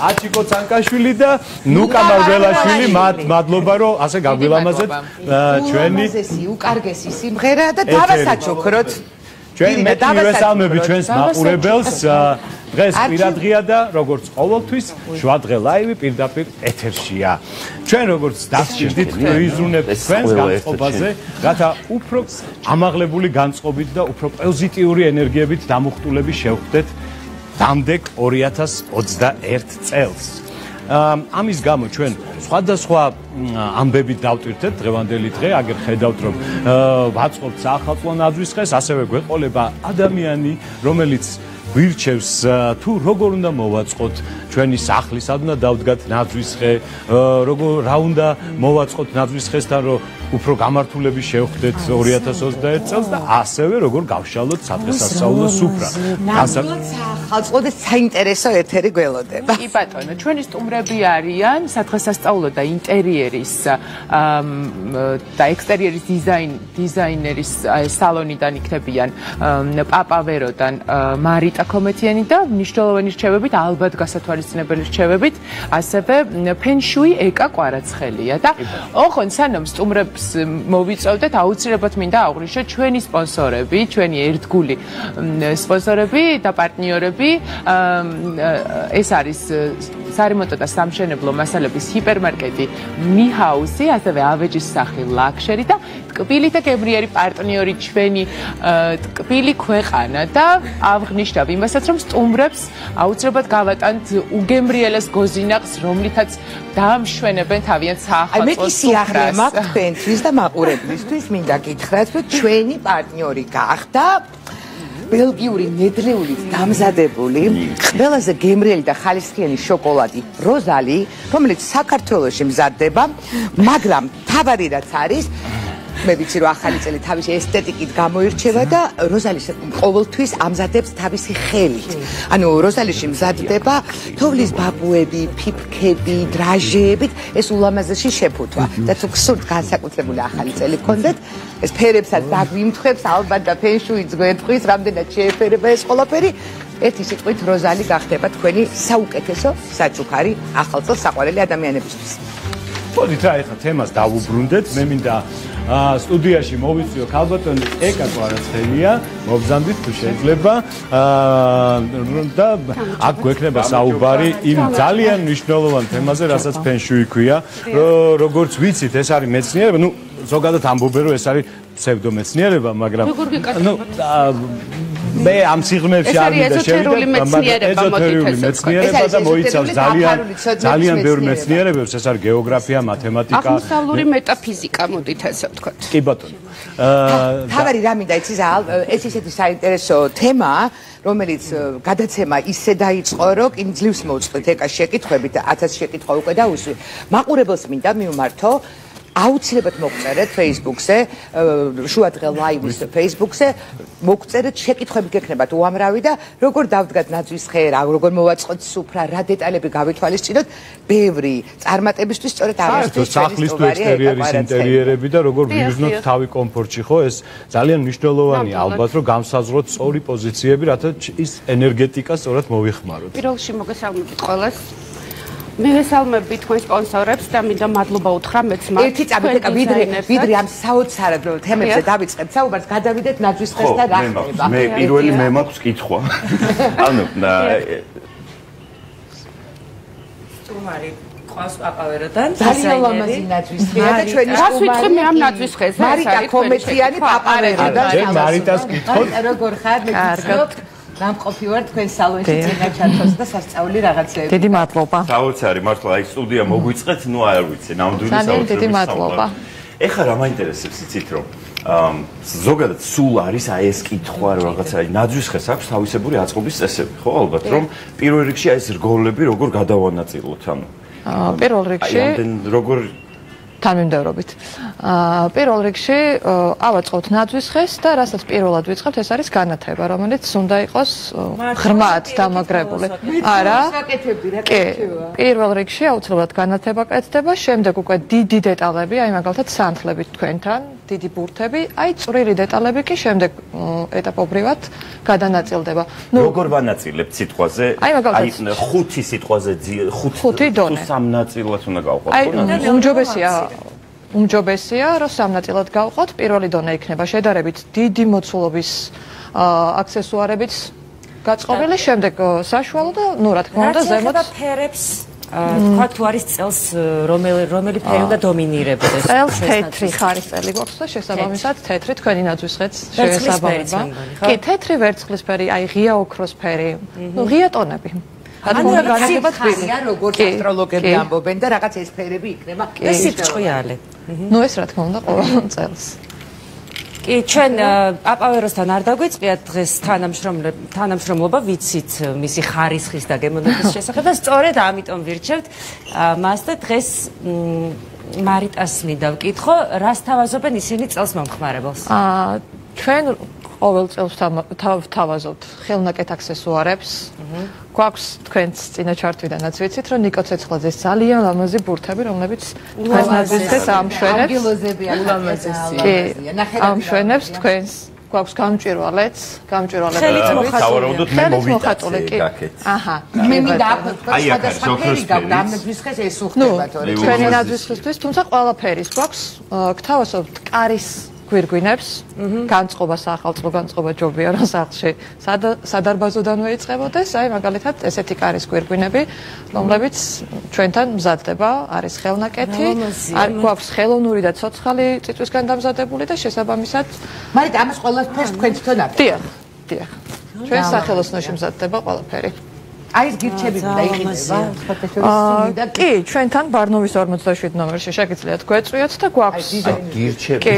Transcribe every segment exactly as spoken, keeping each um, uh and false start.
აჩიკო ცანკაშვილი და ნუკა მარველაშვილი მადლობა რომ ასე გაგვილამაზეთ ჩვენი უკარგესი სიმღერა და დავასაჩოქროთ ჩვენ მე მივესალმები ჩვენს მაყურებელს დღეს პირადღია და როგორც ყოველთვის შვადღე ლაივი პირდაპირ ეთერშია ჩვენ როგორც დასჭირდით ვიზრუნებთ ჩვენს განწყობაზე რათა უფრო ამაღლებული განწყობით და უფრო პოზიტიური ენერგიებით დამუხტულები შევხვდეთ დამდეგ ორი ათას ოცდაერთ წელს. ამის გამო ჩვენ სხვადასხვა ამბებით დავტვირთეთ დღევანდელი დღე, აგერ ხედავთ რომ ვაწყობთ საახალწლო ნაძვის დღეს, ასევე გვეყოლება ადამიანი, რომელიც გვირჩევს თუ როგორ უნდა მოვაწყოთ ჩვენი სახლი, სად უნდა დავდგათ ნაძვის დღე, როგორ რა უნდა მოვაწყოთ ნაძვის დღესთან, რომ უფრო გამართულები შევხვდეთ ორი ათას ოცდაერთ წელს და ასევე როგორ გავშალოთ სადღესასწაულო სუფრა. ნამდვილად საახალწლო და საინტერესო ეთერი გველოდება. კი ბატონო, ჩვენი სტუმრები არიან სადღესასწაულო და ინტერიერის და ექსტერიერის დიზაინ დიზაინერის სალონიდან იქნებიან პაპავეროდან მარიტა კომეთიანი და მნიშვნელოვანი რჩევებით, ალბათ გასათვალისწინებელი რჩევებით, ასევე ფენშუი ეკა კვარაცხელია და ოღონდ სანამ სტუმრებს მოვიწევდეთ, აუცილებლად მინდა აღვნიშნოთ ჩვენი სპონსორები, ჩვენი ერთგული სპონსორები და პარტნიორები. ეს არის სარემონტო და სამშენებლო მასალების ჰიპერმარკეტი მიჰაუსი, ასევე ავეჯის სახლი ლაქშერი და ტკბილი და გემრიერი პარტნიორი ჩვენი ტკბილი ქვეყანა და ავღნიშნავ იმასაც, რომ სტუმრებს აუცილებლად გავატანთ უგემრიელეს გოზინახს, რომლითაც დაამშვენებენ თავიანთ საახალწლო სუფრას. მე სიახლე მაქვს თქვენთვის და მაყურებლისთვის მინდა გითხრათ, რომ ჩვენი პარტნიორი გახდა ბელგიური ნედლეულით დამზადებული ყველაზე გემრიელი და ხალისხიანი შოკოლადი როზალი, რომელიც საქართველოში მზადდება, მაგრამ თავარი რაც არის მე ვიცი რომ ახალი წელი თავისი ესთეტიკით გამოირჩევა და როზალის ყოველთვის ამზადებს თავისი ხელით. ანუ როზალიში მზადდება თოვლის ბაბუები, ფიფქები, დრაჟეებით, ეს ულამაზესი შეფუთვა. და თუ გსურთ განსაკუთრებული ახალი წელი გქონდეთ, ეს ფერებსაც დაგვიმთხებს ალბათ და ფენშუიც გვერდყვის, რამდენად შეეფერება ეს ყველაფერი. ერთი სიტყვით როზალი გახდება თქვენი საუკეთესო საჩუქარი ახალ წელს საყვარელი ადამიანებისთვის. მოდით რა ეხლა თემას დავუბრუნდეთ, მე მინდა სტუდიაში მოვიწვიო ქალბატონი ეკა კვარაცხელია, მოგზანდით თუ შეიძლება და აქ გვექნება საუბარი იმ ძალიან მნიშვნელოვან თემაზე, რასაც ფენშუი ქვია, როგორც ვიცით, ეს არის მეცნიერება, ну ზოგადად ამბობენ რომ ეს არის ფსევდომეცნიერება, მაგრამ ну მე ამ სიღრმეებში არ მინდა შევიდე, მაგრამ ეზოთერიული მეცნიერება და მოიცავს ძალიან ძალიან ბევრ მეცნიერებებს, ეს არის გეოგრაფია, მათემატიკა, აღმოსავლური მეტაფიზიკა, მოდით ესე ვთქვათ. კი ბატონო. თავარი რა მინდა იცი ეს ისეთი საინტერესო თემაა, რომელიც გადაცემა ისე დაიწყო, რომ კინ ძლივს მოვწყდით ეკას შეკითხვებით და ათას შეკითხვა უკვე დაუსვი. მაყურებელს მინდა მივმართო აუცილებლად მოგწერეთ Facebook-ზე, შუადღე ლაივის Facebook-ზე, მოგწერეთ შეკითხვები გექნებათ უამრავი და როგორ დავდგათ ნაძვის ხე, როგორ მოვაწყოთ სუფრა, რა დეტალები გავითვალისწინოთ, ბევრი წარმატებისთვის სწორედ ამისთვის სახლის თუ ექსტერიერის ინტერიერები და როგორ ვიზნოთ თავი კომფორტში, ხო, ეს ძალიან მნიშვნელოვანია ალბათ, რომ გამსაზღვროთ სწორი პოზიციები, რათა ის ენერგეტიკა სწორად მოვიხმაროთ. პირველ რიგში მოგესალმებით ყველას. მივესალმები თქვენ სპონსორებს და მინდა მადლობა უთხრა მეც მათ. ერთი წამით ვიდრე ვიდრე ამ საოცარ თემებზე დავიწყებთ საუბარს, გადავიდეთ ნაძვის ხეს და რა ხდება. მე პირველი მე მაქვს კითხვა. ანუ სტუმარი ყავს პაპავეროდან. ძალიან ლამაზი ნაძვის ხეა და ჩვენი რას ვიტყვი მე ამ ნაძვის ხეზე? მარიტა კომედიანი პაპავეროდან. ჯერ მარიტას კითხოთ. როგორ ხარ? მე გიცხობ. გამყოფი ვარ თქვენ სალონში წინა ჩართოს და სასწაული რაღაცეები. დიდი მადლობა. საოცარი მართლა აი სტუდია მოგვიწყეთ, ნუ არ ვიცი, ნამდვილი საოცარი. ძალიან დიდი მადლობა. ეხლა რა მაინტერესებს იცით რომ ზოგადად სულ არის აი ეს კითხვა რომ რაღაცა აი ნაძვის ხეს აქვს თავისებური აწყობის წესები, ხო ალბათ რომ პირველ რიგში აი ეს რგოლები როგორ გადავანაწილოთ ანუ. პირველ რიგში აი ამდენ როგორ თანმიმდევრობით. პირველ რიგში ავაწყობთ ნაძვის ხეს და რასაც პირველად ვიწყებთ, ეს არის განათება, რომელიც უნდა იყოს ღრმად დამაგრებული. არა. კი, პირველ რიგში აუცილებლად განათება კეთდება, შემდეგ უკვე დიდი დეტალები, აი მაგალითად სანთლებით თქვენთან, დიდი ბურთები, აი წვრილი დეტალები კი შემდეგ ეტაპობრივად გადანაწილდება. ნუ როგორ ვანაწილებთ სიტყვაზე? აი მაგალითად ხუთი სიტყვაზე ხუთი დონე. სამ ნაწილად უნდა გავყოთ, ხო? აი უმჯობესია უმჯობესია, რომ სამ ნაწილად გავყოთ. პირველი დონე იქნება შედარებით დიდი მოცულობის აქსესუარებით გაწყობილი, შემდეგ საშუალო და ნუ რა თქმა უნდა ზემოთ ფერებს თქვა თუ არის წელს რომელი რომელი ფერი უნდა დომინირებდეს. წელს თეთრი ხარისწელი გვაქვს და შესაბამისად თეთრი თქვენი ნაძვის ხეც შეესაბამება. კი, თეთრი ვერცხლისფერი, აი ღია ოქროსფერი, ნუ ღია ტონები. ანუ განათება თბილი, როგორც ასტროლოგები ამბობენ და რაღაც ეს ფერები იქნება და სიფჭყვიალე. ნუ ეს რა თქმა უნდა ყოველ წელს. კი, ჩვენ პაპავეროსთან არ დაგვიწყიათ დღეს თანამშრომლობა, ვიცით მისი ხარისხის და გემოვნების შესახებ და სწორედ ამიტომ ვირჩევთ მას და დღეს მარიტას მინდა ვკითხო, რას თავაზობენ ისინი წელს მომხმარებელს? აა ჩვენ ყოველ წელს ვთავაზობთ ხელნაკეთ აქსესუარებს. გვაქვს თქვენს წინა ჩართვიდანაც ვიცით, რომ ნიკო ცეცხლაძეს ძალიან ლამაზი ბურთები, რომლებიც თქვენს ნაძვის ხეს ამშვენებს. ანგელოზებია, ულამაზესია. ამშვენებს თქვენს. გვაქვს გამჭვირვალეც, გამჭვირვალეც. ხელით მოხატული. ხელით მოხატული, კი. აჰა. მე მინდა აქვე თქვა სხვადასხვა ფერი გაქვს, ამ ნაძვის ხეს ეს უხდება თორე. ჩვენი ნაძვის ხესთვის, თუმცა ყველაფერის გვაქვს, გთავაზობთ კარის გვირგვინებს, განწყობა სახალწლო განწყობა ჯობია რომ სახლში სადარბაზოდანვე იწყებოდეს, აი მაგალითად ესეთი კარის გვირგვინები, რომლებიც ჩვენთან მზადდება, არის ხელნაკეთი, გვაქვს ხელოვნური და ცოცხალი წიწვისგან დამზადებული და შესაბამისად, მაგრამ ამას ყველაფერს თქვენ თვითონ აკეთებთ. დიახ, დიახ. ჩვენ სახელოსნოში მზადდება ყველაფერი. აი ეს გირჩები და იყიდება აა კი ჩვენთან ბარნოვის ორმოცდაშვიდ ნომერში შეგიძლიათ გვეწვიოთ და გვაქვს გირჩები კი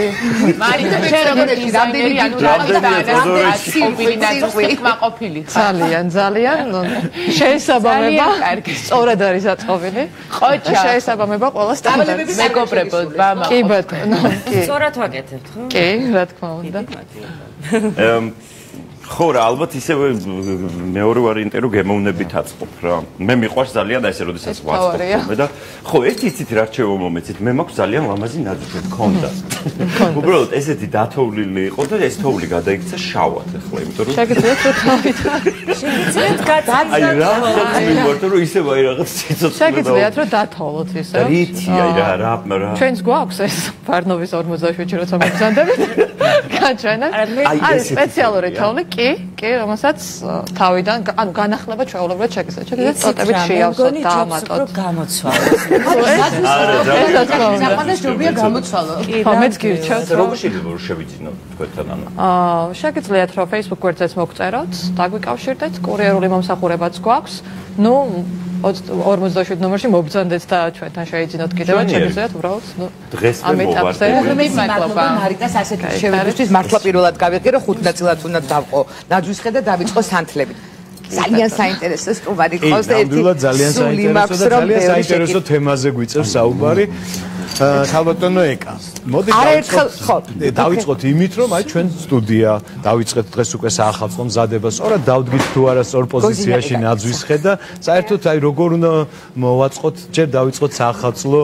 მარინა შენ როგორ დიზაინერი ანუ კმაყოფილი ძალიან ძალიან შეესაბამება სწორად არის აწყობილი ყოჩა შეესაბამება ყველა სტანდარტს მეგობრებო მამა კი ბატონო კი სწორად ვაკეთებთ ხო კი რა თქმა უნდა ხო რა ალბათ ისევე მეორე ვარიანტი რომ გემოვნებით აწყობ რა მე მიყვარს ძალიან და ესე როდესაც ვაწყობ და ხო ერთი იცით რა რჩევა მომეცით მე მაქვს ძალიან ლამაზი ნაძვი მქონდა უბრალოდ ესეთი დათოვლილი იყო და ეს თოვლი გადაიქცა შავად ახლა იმიტომ რომ შეგიძლიათ რომ თავით შეგიძლიათ გადაწყოთ აი რა მივარ რომ ისე ვაი რაღაც ციცოცხლე შეგიძლიათ რომ დათოვლოთ ისე რითი აი რა რა რა ჩვენს გვაქვს ეს ბარნოვის ორმოცდაშვიდში როცა მოგზანდებით გაჩვენა არის სპეციალური თოვლი კი კი რომელსაც თავიდან ანუ განახლება ჩვეულებრივად შეგიძლიათ შეგიძლიათ წოტებით შეავსოთ და ამატოთ გამოცვალოთ საყვარელს ჯობია გამოცვალო ხო მეც გირჩევთ როგორ შეიძლება რომ შევიძინოთ თქვენთან ანუ აა შეგიძლიათ რომ Facebook გვერდზეც მოგწეროთ დაგვიკავშირდეთ კურიერული მომსახურებაც გვაქვს ნუ ორმოცდაშვიდ ნომერში მობრძანდეთ და ჩვენთან შეიძინოთ კიდევაც შეგიძლიათ უბრალოდ ნუ დღეს მე მოვარდე მე მადლობა მარიტას ასეთი შევიდისთვის მართლა პირველად გავიღე რომ ხუთ ნაწილად უნდა დავყო ნაძვის ხედა დავიწყო სანთლებით ძალიან საინტერესო სტუმარი ყავს და ერთი ძალიან საინტერესო და ძალიან საინტერესო თემაზე გვიწევს საუბარი ხალბატონო ეკა მოდი დავიწყოთ იმით რომ აი ჩვენ სტუდია დავიწყეთ დღეს უკვე საახალწლო მზადება სწორად დავდგით თუ არა სწორ პოზიციაში ნაძვის ხედა საერთოდ აი როგორ უნდა მოვაწყოთ ჯერ დავიწყოთ საახალწლო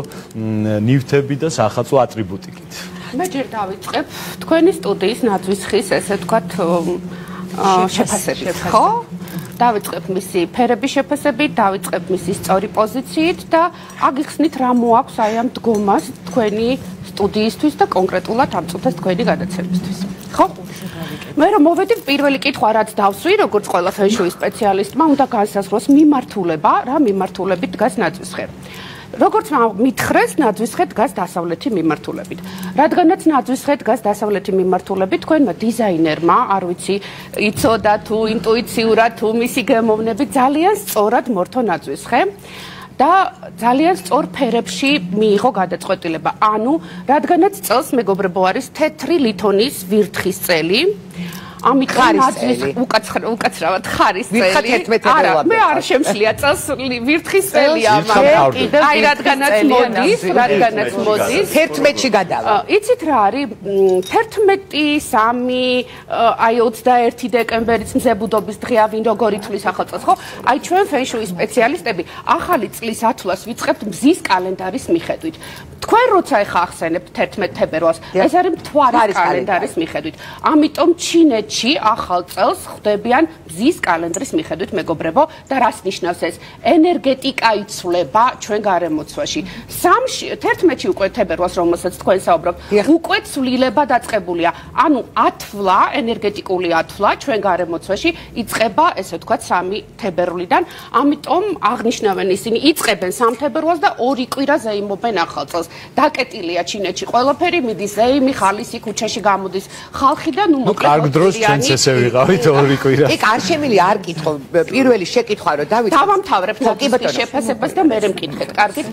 ნივთები და საახალწლო ატრიბუტიკით მე ჯერ დავიწყებ თქვენი სტუდიის ნაძვის ხის ესე ვთქვათ შეფასებით ხო დავიწყებ მისი ფერების შეფასებით, დავიწყებ მისი სწორი პოზიციით და აგიხსნით რა მოაქვს აი ამ დგომას თქვენი სტუდიისთვის და კონკრეტულად ამ წუთას თქვენი გადაცემისთვის. ხო? მე რომ მოვედი პირველი კითხვა რაც დავსვი, როგორც ყველა ფენშუის სპეციალისტმა, უნდა განსაზღვროს მიმართულება, რა მიმართულებით დგას ნაძვის ხე. როგორც მითხრეს, ნაძვის ხე დგას დასავლეთი მიმართულებით. რადგანაც ნაძვის ხე დგას დასავლეთი მიმართულებით, თქვენმა დიზაინერმა, არ ვიცი, იცოდა თუ ინტუიციურად თუ მისი გემოვნები ძალიან სწორად მორთო ნაძვის ხე და ძალიან სწორ ფერებში მიიღო გადაწყვეტილება. ანუ, რადგანაც წელს მეგობრებო არის თეთრი ლითონის ვირთხის წელი, ამიტომ ნაძვის უკაცრავად ხარის წელი. არა, მე არ შემშლია წელს ვირთხის წელია, მაგრამ აი რადგანაც მოდის, რადგანაც მოდის, თერთმეტში გადავა. იცით რა არის? თერთმეტი, სამი, აი ოცდაერთი დეკემბერიც მზებუდობის დღეა, ვინ როგორ ითვლის ახალ წელს, ხო? აი ჩვენ ფენშუის სპეციალისტები ახალი წლის ათვლას ვიწყებთ მზის კალენდარის მიხედვით. თქვენ როცა ეხა ახსენებთ თერთმეტ თებერვალს, ეს არის მთვარის კალენდარის მიხედვით. ამიტომ ჩინეთში ახალ წელს ხვდებიან მზის კალენდრის მიხედვით, მეგობრებო, და რას ნიშნავს ეს? ენერგეტიკა იცვლება ჩვენ გარემოცვაში. სამში თერთმეტში უკვე თებერვალს, რომელსაც თქვენ საუბრობთ, უკვე ცვლილება დაწყებულია. ანუ ათვლა, ენერგეტიკული ათვლა ჩვენ გარემოცვაში იწყება, ესე ვთქვათ, სამი თებერვლიდან. ამიტომ აღნიშნავენ ისინი, იწყებენ სამ თებერვალს და ორი კვირა ზეიმობენ ახალ წელს. დაკეტილია ჩინეთში ყველაფერი, მიდის ზეიმი, ხალისი, ქუჩაში გამოდის ხალხი და ნუ მოკლედ კარგ დროს ჩვენც ესე ვიყავით ორი კვირა. ეგ არ შემილი არ კითხო, პირველი შეკითხვა რომ დავიწყო. დავამთავრებ ნაძვის შეფასებას და მე მეკითხეთ, კარგით?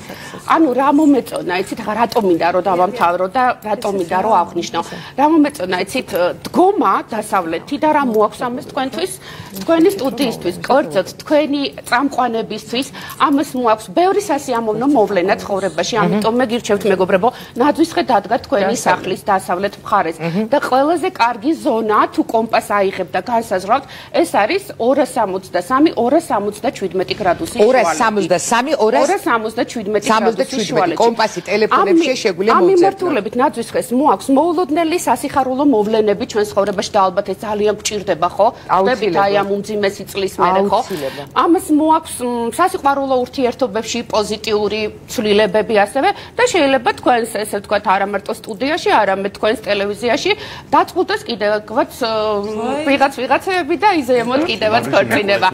ანუ რა მომეწონა, იცით, რატომ მინდა რომ დავამთავრო და რატომ მინდა რომ აღნიშნო. რა მომეწონა, იცით, დგომა დასავლეთი და რა მოაქვს ამას თქვენთვის, თქვენი სტუდიისთვის, კერძოდ თქვენი წამყვანებისთვის, ამას მოაქვს ბევრი სასიამოვნო მოვლენა ცხოვრებაში, ამიტომ მე გირჩევთ მეგობრებო, ნაძვის ხე დადგა თქვენი სახლის დასავლეთ მხარეს და ყველაზე კარგი ზონა თუ კომპას აიღებ და განსაზღვრავთ, ეს არის ორას სამოცდასამი ორას სამოცდაშვიდმეტი გრადუსი შუალედით. ორას სამოცდასამი ორას სამოცდაშვიდმეტი გრადუსი შუალედით. კომპასი ტელეფონებში შეგვიძლია მოუწერთ. ამ მიმართულებით ნაძვის ხეს მოაქვს მოულოდნელი სასიხარულო მოვლენები ჩვენ ცხოვრებაში და ალბათ ეს ძალიან გჭირდება, ხო? ხდებით აი ამ უმძიმესი წლის მერე, ხო? ამას მოაქვს სასიყვარულო ურთიერთობებში პოზიტიური ცვლილებები ასევე და შეიძლება თქვენს ესე ვთქვათ არა მარტო სტუდიაში, არამედ თქვენს ტელევიზიაში დაწყდეს კიდევაც ვიღაც ვიღაცები და იზეემოთ კიდევაც ქორწინება.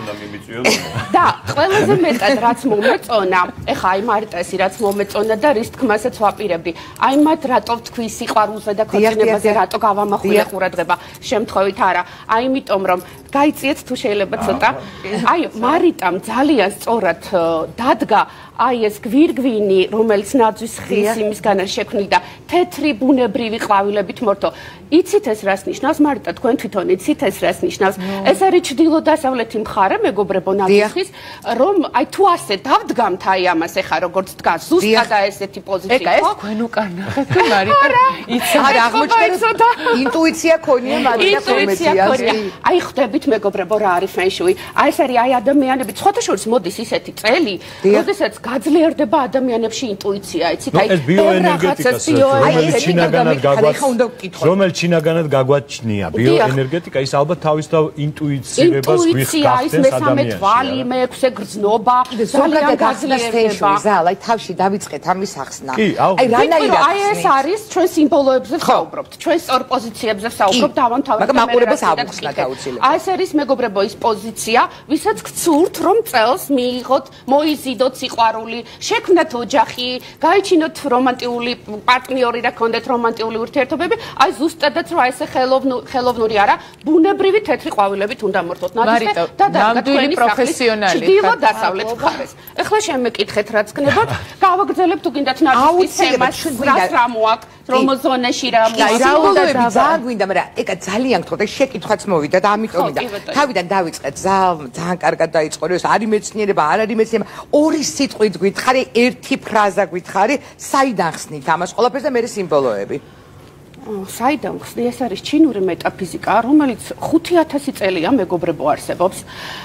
და ყველაზე მეტად რაც მომეწონა, ეხა აი მარიტესი რაც მომეწონა და რის თქმასაც ვაპირებდი. აი მათ რატო თქვი სიყვარულზე და ქორწინებაზე რატო გავამახვილე ყურადღება? შემთხვევით არა. აი იმიტომ რომ გაიწიეთ თუ შეიძლება ცოტა. აი, მარიტამ ძალიან სწორად დადგა აი ეს გვირგვინი, რომელიც ნაძვის ხის იმისგან არის შექმნილი და თეთრი ბუნებრივი ყვავილებით მორთო. იცით ეს რას ნიშნავს? მარიტა, თქვენ თვითონ იცით ეს რას ნიშნავს? ეს არის ჩრდილო-დასავლეთი მხარე, მეგობრებო, ნაძვის ხის, რომ აი თუ ასე დავდგამთ აი ამას ეხა როგორც დგას, ზუსტად ესეთი პოზიცია, ხო? ეს თქვენ უკან ნახეთ, მარიტა. იცით, არა აღმოჩნდა ინტუიცია ქონია მარიტა პრომეთია. აი ხვდებით მეგობრებო რა არის ფენშუი? აი ეს არის აი ადამიანები, სხვათა შორის მოდის ისეთი წელი, როდესაც გაძლიერდება ადამიანებში ინტუიცია, იცით? აი ეს ბიოენერგეტიკას რომელიც ჩინაგანად გაგვაჩნია, რომელიც ჩინაგანად გაგვაჩნია, ბიოენერგეტიკა ის ალბათ თავისთავად ინტუიცირებას გვიხსენებს ადამიანში. თვალი, მეექვსე გრძნობა, ძალიან გაძლიერდება. ზალ, აი თავში დავიწყეთ ამის ახსნა. აი რანაირად აი ეს არის ჩვენ სიმბოლოებზე ვსაუბრობთ, ჩვენ სწორ პოზიციებზე ვსაუბრობთ, დავამთავრებთ. მაგრამ მაყურებელს აუხსნა გაუცილებლად. აი ეს არის მეგობრებო ის პოზიცია, ვისაც გცურთ რომ წელს მიიღოთ, მოიზიდოთ სიყვარული, შექმნათ ოჯახი, გაიჩინოთ რომანტიკული პარტნიორი და გქონდეთ რომანტიკული ურთიერთობები, აი ზუსტადაც რა ესე ხელოვნური არა, ბუნებრივი თეთრი ყვავილებით უნდა მორთოთ ნაძვზე და ნამდვილი პროფესიონალი. ჩრდილო-დასავლეთ მხარეს. ეხლა შემეკითხეთ რაც გნებოთ, გავაგრძელებთ თუ გინდათ ნაძვის თემას, რას რა მოაქვს, რომ ზონაში რა მოაქვს. ძალიან გვინდა, მაგრამ ეკა ძალიან გთხოვთ, შეკითხვაც მოვიდა და ამიტომ და თავიდან დავიწყეთ, ძალიან კარგად დაიწყო, ეს არის მეცნიერება, არ არის მეცნიერება. ორი სიტყვით გითხარი, ერთი ფრაზა გითხარი, საიდან ხსნით ამას ყველაფერს და მე სიმბოლოები. საიდან ხსნი? ეს არის ჩინური მეტაფიზიკა, რომელიც ხუთი ათასი წელია მეგობრებო არსებობს.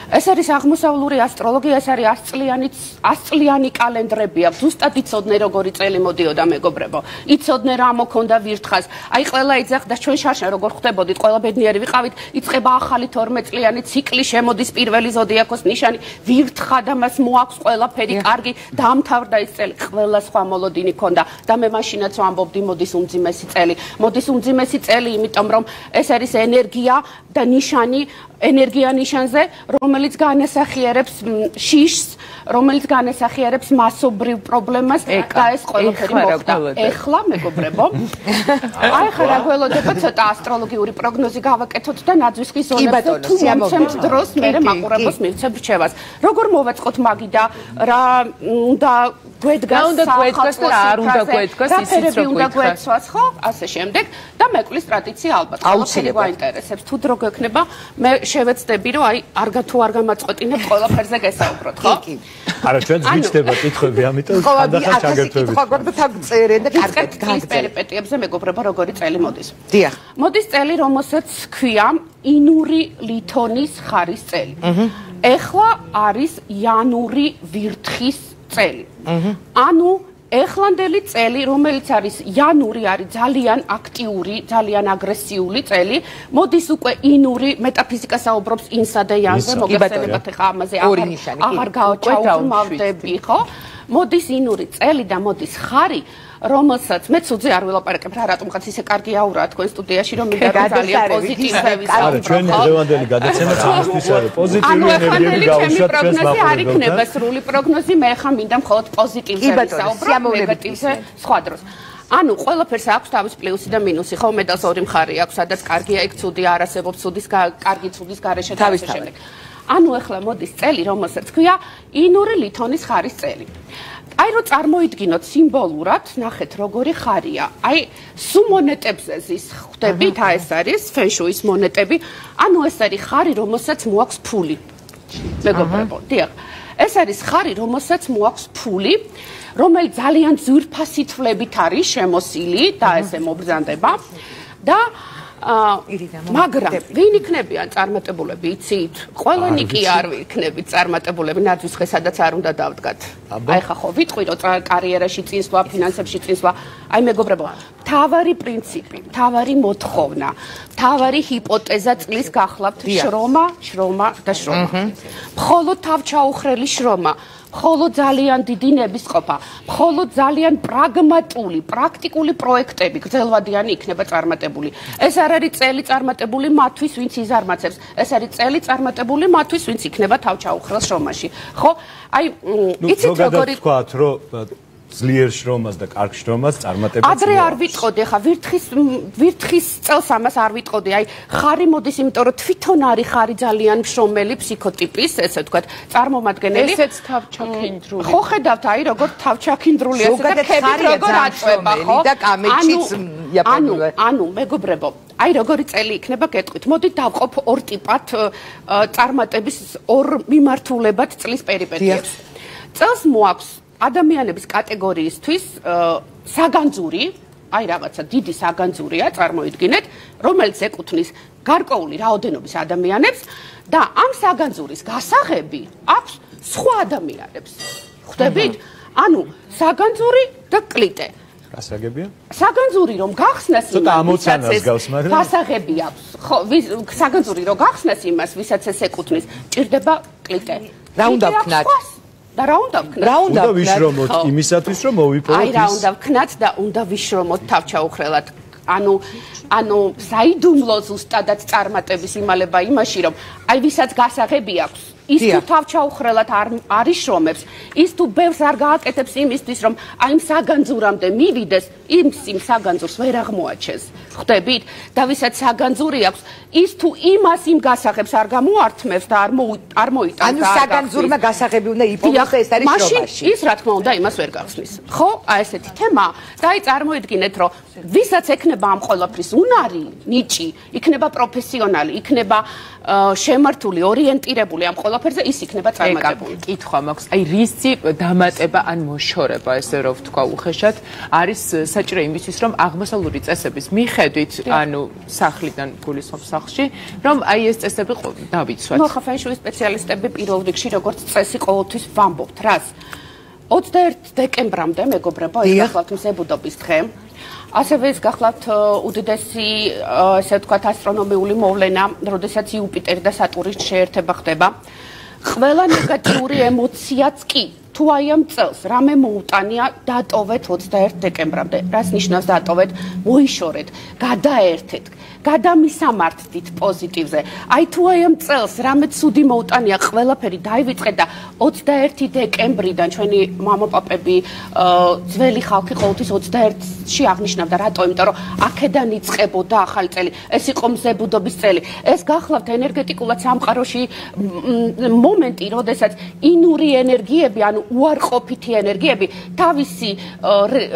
ეს არის აღმოსავლური ასტროლოგია, ეს არის ასწლიანი ასწლიანი კალენდრები აქვს. ზუსტად იცოდნენ როგორი წელი მოდიოდა მეგობრებო. იცოდნენ რა მოქონდა ვირთხას. აი ყველა იძახდა ჩვენ შარშან როგორ ხვდებოდით, ყველა ბედნიერი ვიყავით, იწყება ახალი თორმეტ წლიანი ციკლი, შემოდის პირველი ზოდიაქოს ნიშანი, ვირთხა და მას მოაქვს ყველაფერი კარგი, დაამთავრდა ის წელი. ყველა სხვა მოლოდინი ქონდა და მე მაშინაც ვამბობდი მოდის უმძიმესი წელი. მოდის უმძიმესი წელი, იმიტომ რომ ეს არის ენერგია და ნიშანი, ენერგია ნიშანზე, რომელიც განასახიერებს შიშს, რომელიც განასახიერებს მასობრივ პრობლემას და ეს ყველაფერი მოხდა. ეხლა მეგობრებო, აი ხა რა გველოდება ცოტა ასტროლოგიური პროგნოზი გავაკეთოთ და ნაძვის ხის ზონებზე თუ მომცემთ დროს მე მაყურებელს მივცემ რჩევას. როგორ მოვაწყოთ მაგი და რა უნდა გვედგას, უნდა გვედგას და რა არ უნდა გვედგას, ისიც რო უნდა გვეცვას, ხო? ასე შემდეგ და მეკვლის ტრადიცია ალბათ ყველაფერი გვაინტერესებს. თუ დრო გექნება, მე შევეცდები რომ აი არ თუ არ გამაწყვეტინებ ყველაფერზე გესაუბროთ, ხო? კი. არა, ჩვენ გვიჩდება კითხვები, ამიტომ ხანდახან ჩაგერთვებით. ხო, გვაქვს და თან წერენ და კარგად გაგრძელეთ პერიპეტიებზე მეგობრებო, როგორი წელი მოდის. დიახ. მოდის წელი, რომელსაც ქვია ინური ლითონის ხარის წელი. ეხლა არის იანური ვირთხის წელი. ანუ ეხლანდელი წელი, რომელიც არის იანური, არის ძალიან აქტიური, ძალიან აგრესიული წელი. მოდის უკვე ინური, მეტაფიზიკა საუბრობს ინსა და იანზე, მოგეხსენებათ ახლა ამაზე აღარ გავჩაუბრმავდები, ხო? მოდის ინური წელი და მოდის ხარი, რომელსაც მე ცუძე არ ვილაპარაკებ რა, რატომღაც ისე კარგი აურაა თქვენ სტუდიაში, რომ მინდა ძალიან პოზიტივები საუბრობ. არა, ჩვენი დღევანდელი გადაცემა ჩვენთვის არის პოზიტიური ენერგიები გაუშვათ ჩვენს მაყურებელს. არ იქნება სრული პროგნოზი, მე ხა მინდა მხოლოდ პოზიტივზე ვისაუბრებ, ნეგატივზე სხვა დროს. ანუ ყველაფერს აქვს თავის პლუსი და მინუსი, ხო? მედალს ორი მხარე აქვს, სადაც კარგია, იქ ცუდი არ არსებობს, ცუდის კარგი ცუდის გარეშე თავის შემდეგ. ანუ ახლა მოდის წელი, რომელსაც ქვია ინური ლითონის ხარის წელი. აი რო წარმოიდგინოთ სიმბოლურად, ნახეთ როგორი ხარია. აი სუ მონეტებზე ზის ხვდებით, აი ეს არის ფენშუის მონეტები. ანუ ეს არის ხარი, რომელსაც მოაქვს ფული. მეგობრებო, დიახ. ეს არის ხარი, რომელსაც მოაქვს ფული, რომელიც ძალიან ძვირფასი თვლებით არის შემოსილი და ესე მობრძანდება და მაგრამ ვინ იქნებიან წარმატებულები, იცით? ყველანი კი არ ვიქნებით წარმატებულები, ნაძვის ხე სადაც არ უნდა დავდგათ. აი ხა ხო ვიტყვი რომ კარიერაში წინსვლა, ფინანსებში წინსვლა. აი მეგობრებო, თავარი პრინციპი, თავარი მოთხოვნა, თავარი ჰიპოთეზა წლის გახლავთ შრომა, შრომა და შრომა. მხოლოდ თავჩაუხრელი შრომა. მხოლოდ ძალიან დიდი ნებისყოფა, მხოლოდ ძალიან პრაგმატული, პრაქტიკული პროექტები გრძელვადიანი იქნება წარმატებული. ეს არ არის წელი წარმატებული მათთვის, ვინც იზარმაცებს. ეს არის წელი წარმატებული მათთვის, ვინც იქნება თავჩაუხრელ შრომაში. ხო? აი, იცით როგორი თქვათ, რომ ძლიერ შრომას და კარგ შრომას წარმატებაც. ადრე არ ვიტყოდი, ხა ვირთხის ვირთხის წელს ამას არ ვიტყოდი. აი, ხარი მოდის, იმიტომ რომ თვითონ არის ხარი ძალიან მშრომელი ფსიქოტიპის, ესე ვთქვათ, წარმომადგენელი. ესეც თავჩაქინდრული. ხო ხედავთ, აი, როგორ თავჩაქინდრული ესე და ხებით როგორ აწובה, ხო? და კამეჩიც იაპონური. ანუ, მეგობრებო, აი როგორი წელი იქნება გეტყვით. მოდით დავყოფ ორ ტიპად წარმატების ორ მიმართულებად წლის პერიპეტიებს. წელს მოაქვს ადამიანების კატეგორიისთვის საგანძური, აი რაღაცა დიდი საგანძურია, წარმოიდგინეთ, რომელიც ეკუთვნის გარკვეული რაოდენობის ადამიანებს და ამ საგანძურის გასაღები აქვს სხვა ადამიანებს. ხვდებით? ანუ საგანძური და კლიტე. გასაგებია? საგანძური რომ გახსნას ცოტა ამოცანას გავს, მაგრამ გასაღები აქვს. ხო, საგანძური რომ გახსნას იმას, ვისაც ეს ეკუთვნის, ჭირდება კლიტე. რა უნდა ვქნათ? და რა უნდა ვქნათ? რა უნდა ვიშრომოთ იმისათვის, რომ მოვიპოვოთ ის? აი რა უნდა ვქნათ და უნდა ვიშრომოთ თავჩაუხრელად. ანუ ანუ საიდუმლო ზუსტადად წარმატების იმალება იმაში, რომ აი ვისაც გასაღები აქვს, ის თუ თავჩაუხრელად არ არიშრომებს, ის თუ ბევრს არ გააკეთებს იმისთვის, რომ აი იმ საგანძურამდე მივიდეს, იმ იმ საგანძურს ვერ აღმოაჩენს. ხვდებით? და ვისაც საგანძური აქვს, ის თუ იმას იმ გასაღებს არ გამოართმევს და არ არ მოიტანს. ანუ საგანძურმა გასაღები უნდა იპოვოს და ეს არის შრომაში. მაშინ ის რა თქმა უნდა იმას ვერ გახსნის. ხო? აი ესეთი თემა და აი წარმოიდგინეთ, რომ ვისაც ექნება ამ ყველაფრის უნარი, ნიჭი, იქნება პროფესიონალი, იქნება შემართული, ორიენტირებული ამ ყველაფერზე, ის იქნება წარმატებული. კითხვა მაქვს, აი რისი დამატება ან მოშორება, ესე რომ ვთქვა უხეშად, არის საჭირო იმისთვის, რომ აღმოსავლური წესების მიხედვით, ანუ სახლიდან გულისხმობ სახლში, რომ აი ეს წესები დავიცვათ. ნუ ხა ფენშუის სპეციალისტები პირველ რიგში როგორც წესი ყოველთვის ვამბობთ, რას? ოცდაერთი დეკემბრამდე, მეგობრებო, ეს გახლავთ მზებუდობის დღე. ასევე ეს გახლავთ უდიდესი, ესე ვთქვათ, ასტრონომიული მოვლენა, როდესაც იუპიტერი და სატურნის შეერთება ხდება. ყველა ნეგატიური ემოციაც კი თუ აი ამ წელს რამე მოუტანია, დატოვეთ ოცდაერთი დეკემბრამდე. რას ნიშნავს დატოვეთ? მოიშორეთ, გადაერთეთ, გადამისამართდით პოზიტივზე. აი თუ აი ამ წელს რამე ცუდი მოუტანია, ყველაფერი დაივიწყეთ და ოცდაერთი დეკემბრიდან ჩვენი მამაპაპები, ძველი ხალხი ყოველთვის ოცდაერთში აღნიშნავდა, რატო? იმიტომ რომ აქედან იწყებოდა ახალი წელი. ეს იყო მზებუდობის წელი. ეს გახლავთ ენერგეტიკულად სამყაროში მომენტი, როდესაც ინური ენერგიები, ანუ უარყოფითი ენერგიები თავისი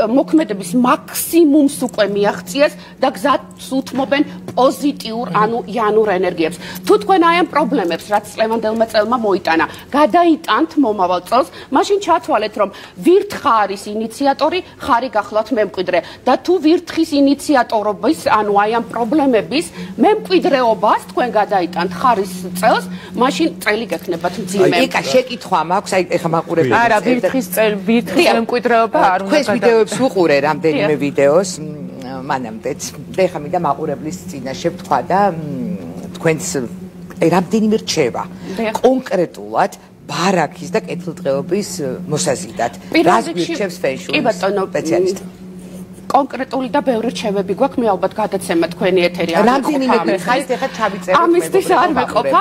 მოქმედების მაქსიმუმს უკვე მიაღწიეს და გზას უთმობენ პოზიტიურ, ანუ იანურ ენერგიებს. თუ თქვენ აი ამ პრობლემებს, რაც წლევანდელმა წელმა მოიტანა, გადაიტანთ მომავალ წელს, მაშინ ჩათვალეთ, რომ ვირთხა არის ინიციატორი, ხარი გახლავთ მემკვიდრე. და თუ ვირთხის ინიციატორობის, ანუ აი ამ პრობლემების მემკვიდრეობას თქვენ გადაიტანთ ხარის წელს, მაშინ წელი გექნებათ მძიმე. ეკა შეკითხვა მაქვს, აი ეხა მაყურებელი. არა, ვირთხის წელი, ვირთხის მემკვიდრეობა არ უნდა. თქვენს ვიდეოებს ვუყურე რამდენიმე ვიდეოს. მანამდეც და ეხა მინდა მაყურებლის წინაშე ვთქვა და თქვენს რამდენიმე რჩევა კონკრეტულად ბარაქის და კეთილდღეობის მოსაზიდად. რას გვირჩევს ფენშუის სპეციალისტი? კონკრეტული და ბევრი რჩევები გვაქვს, მე ალბათ გადაცემა თქვენი ეთერი არ მეყოფა. ხაით ეხა ჩავიწეროთ ამისთვის არ მეყოფა.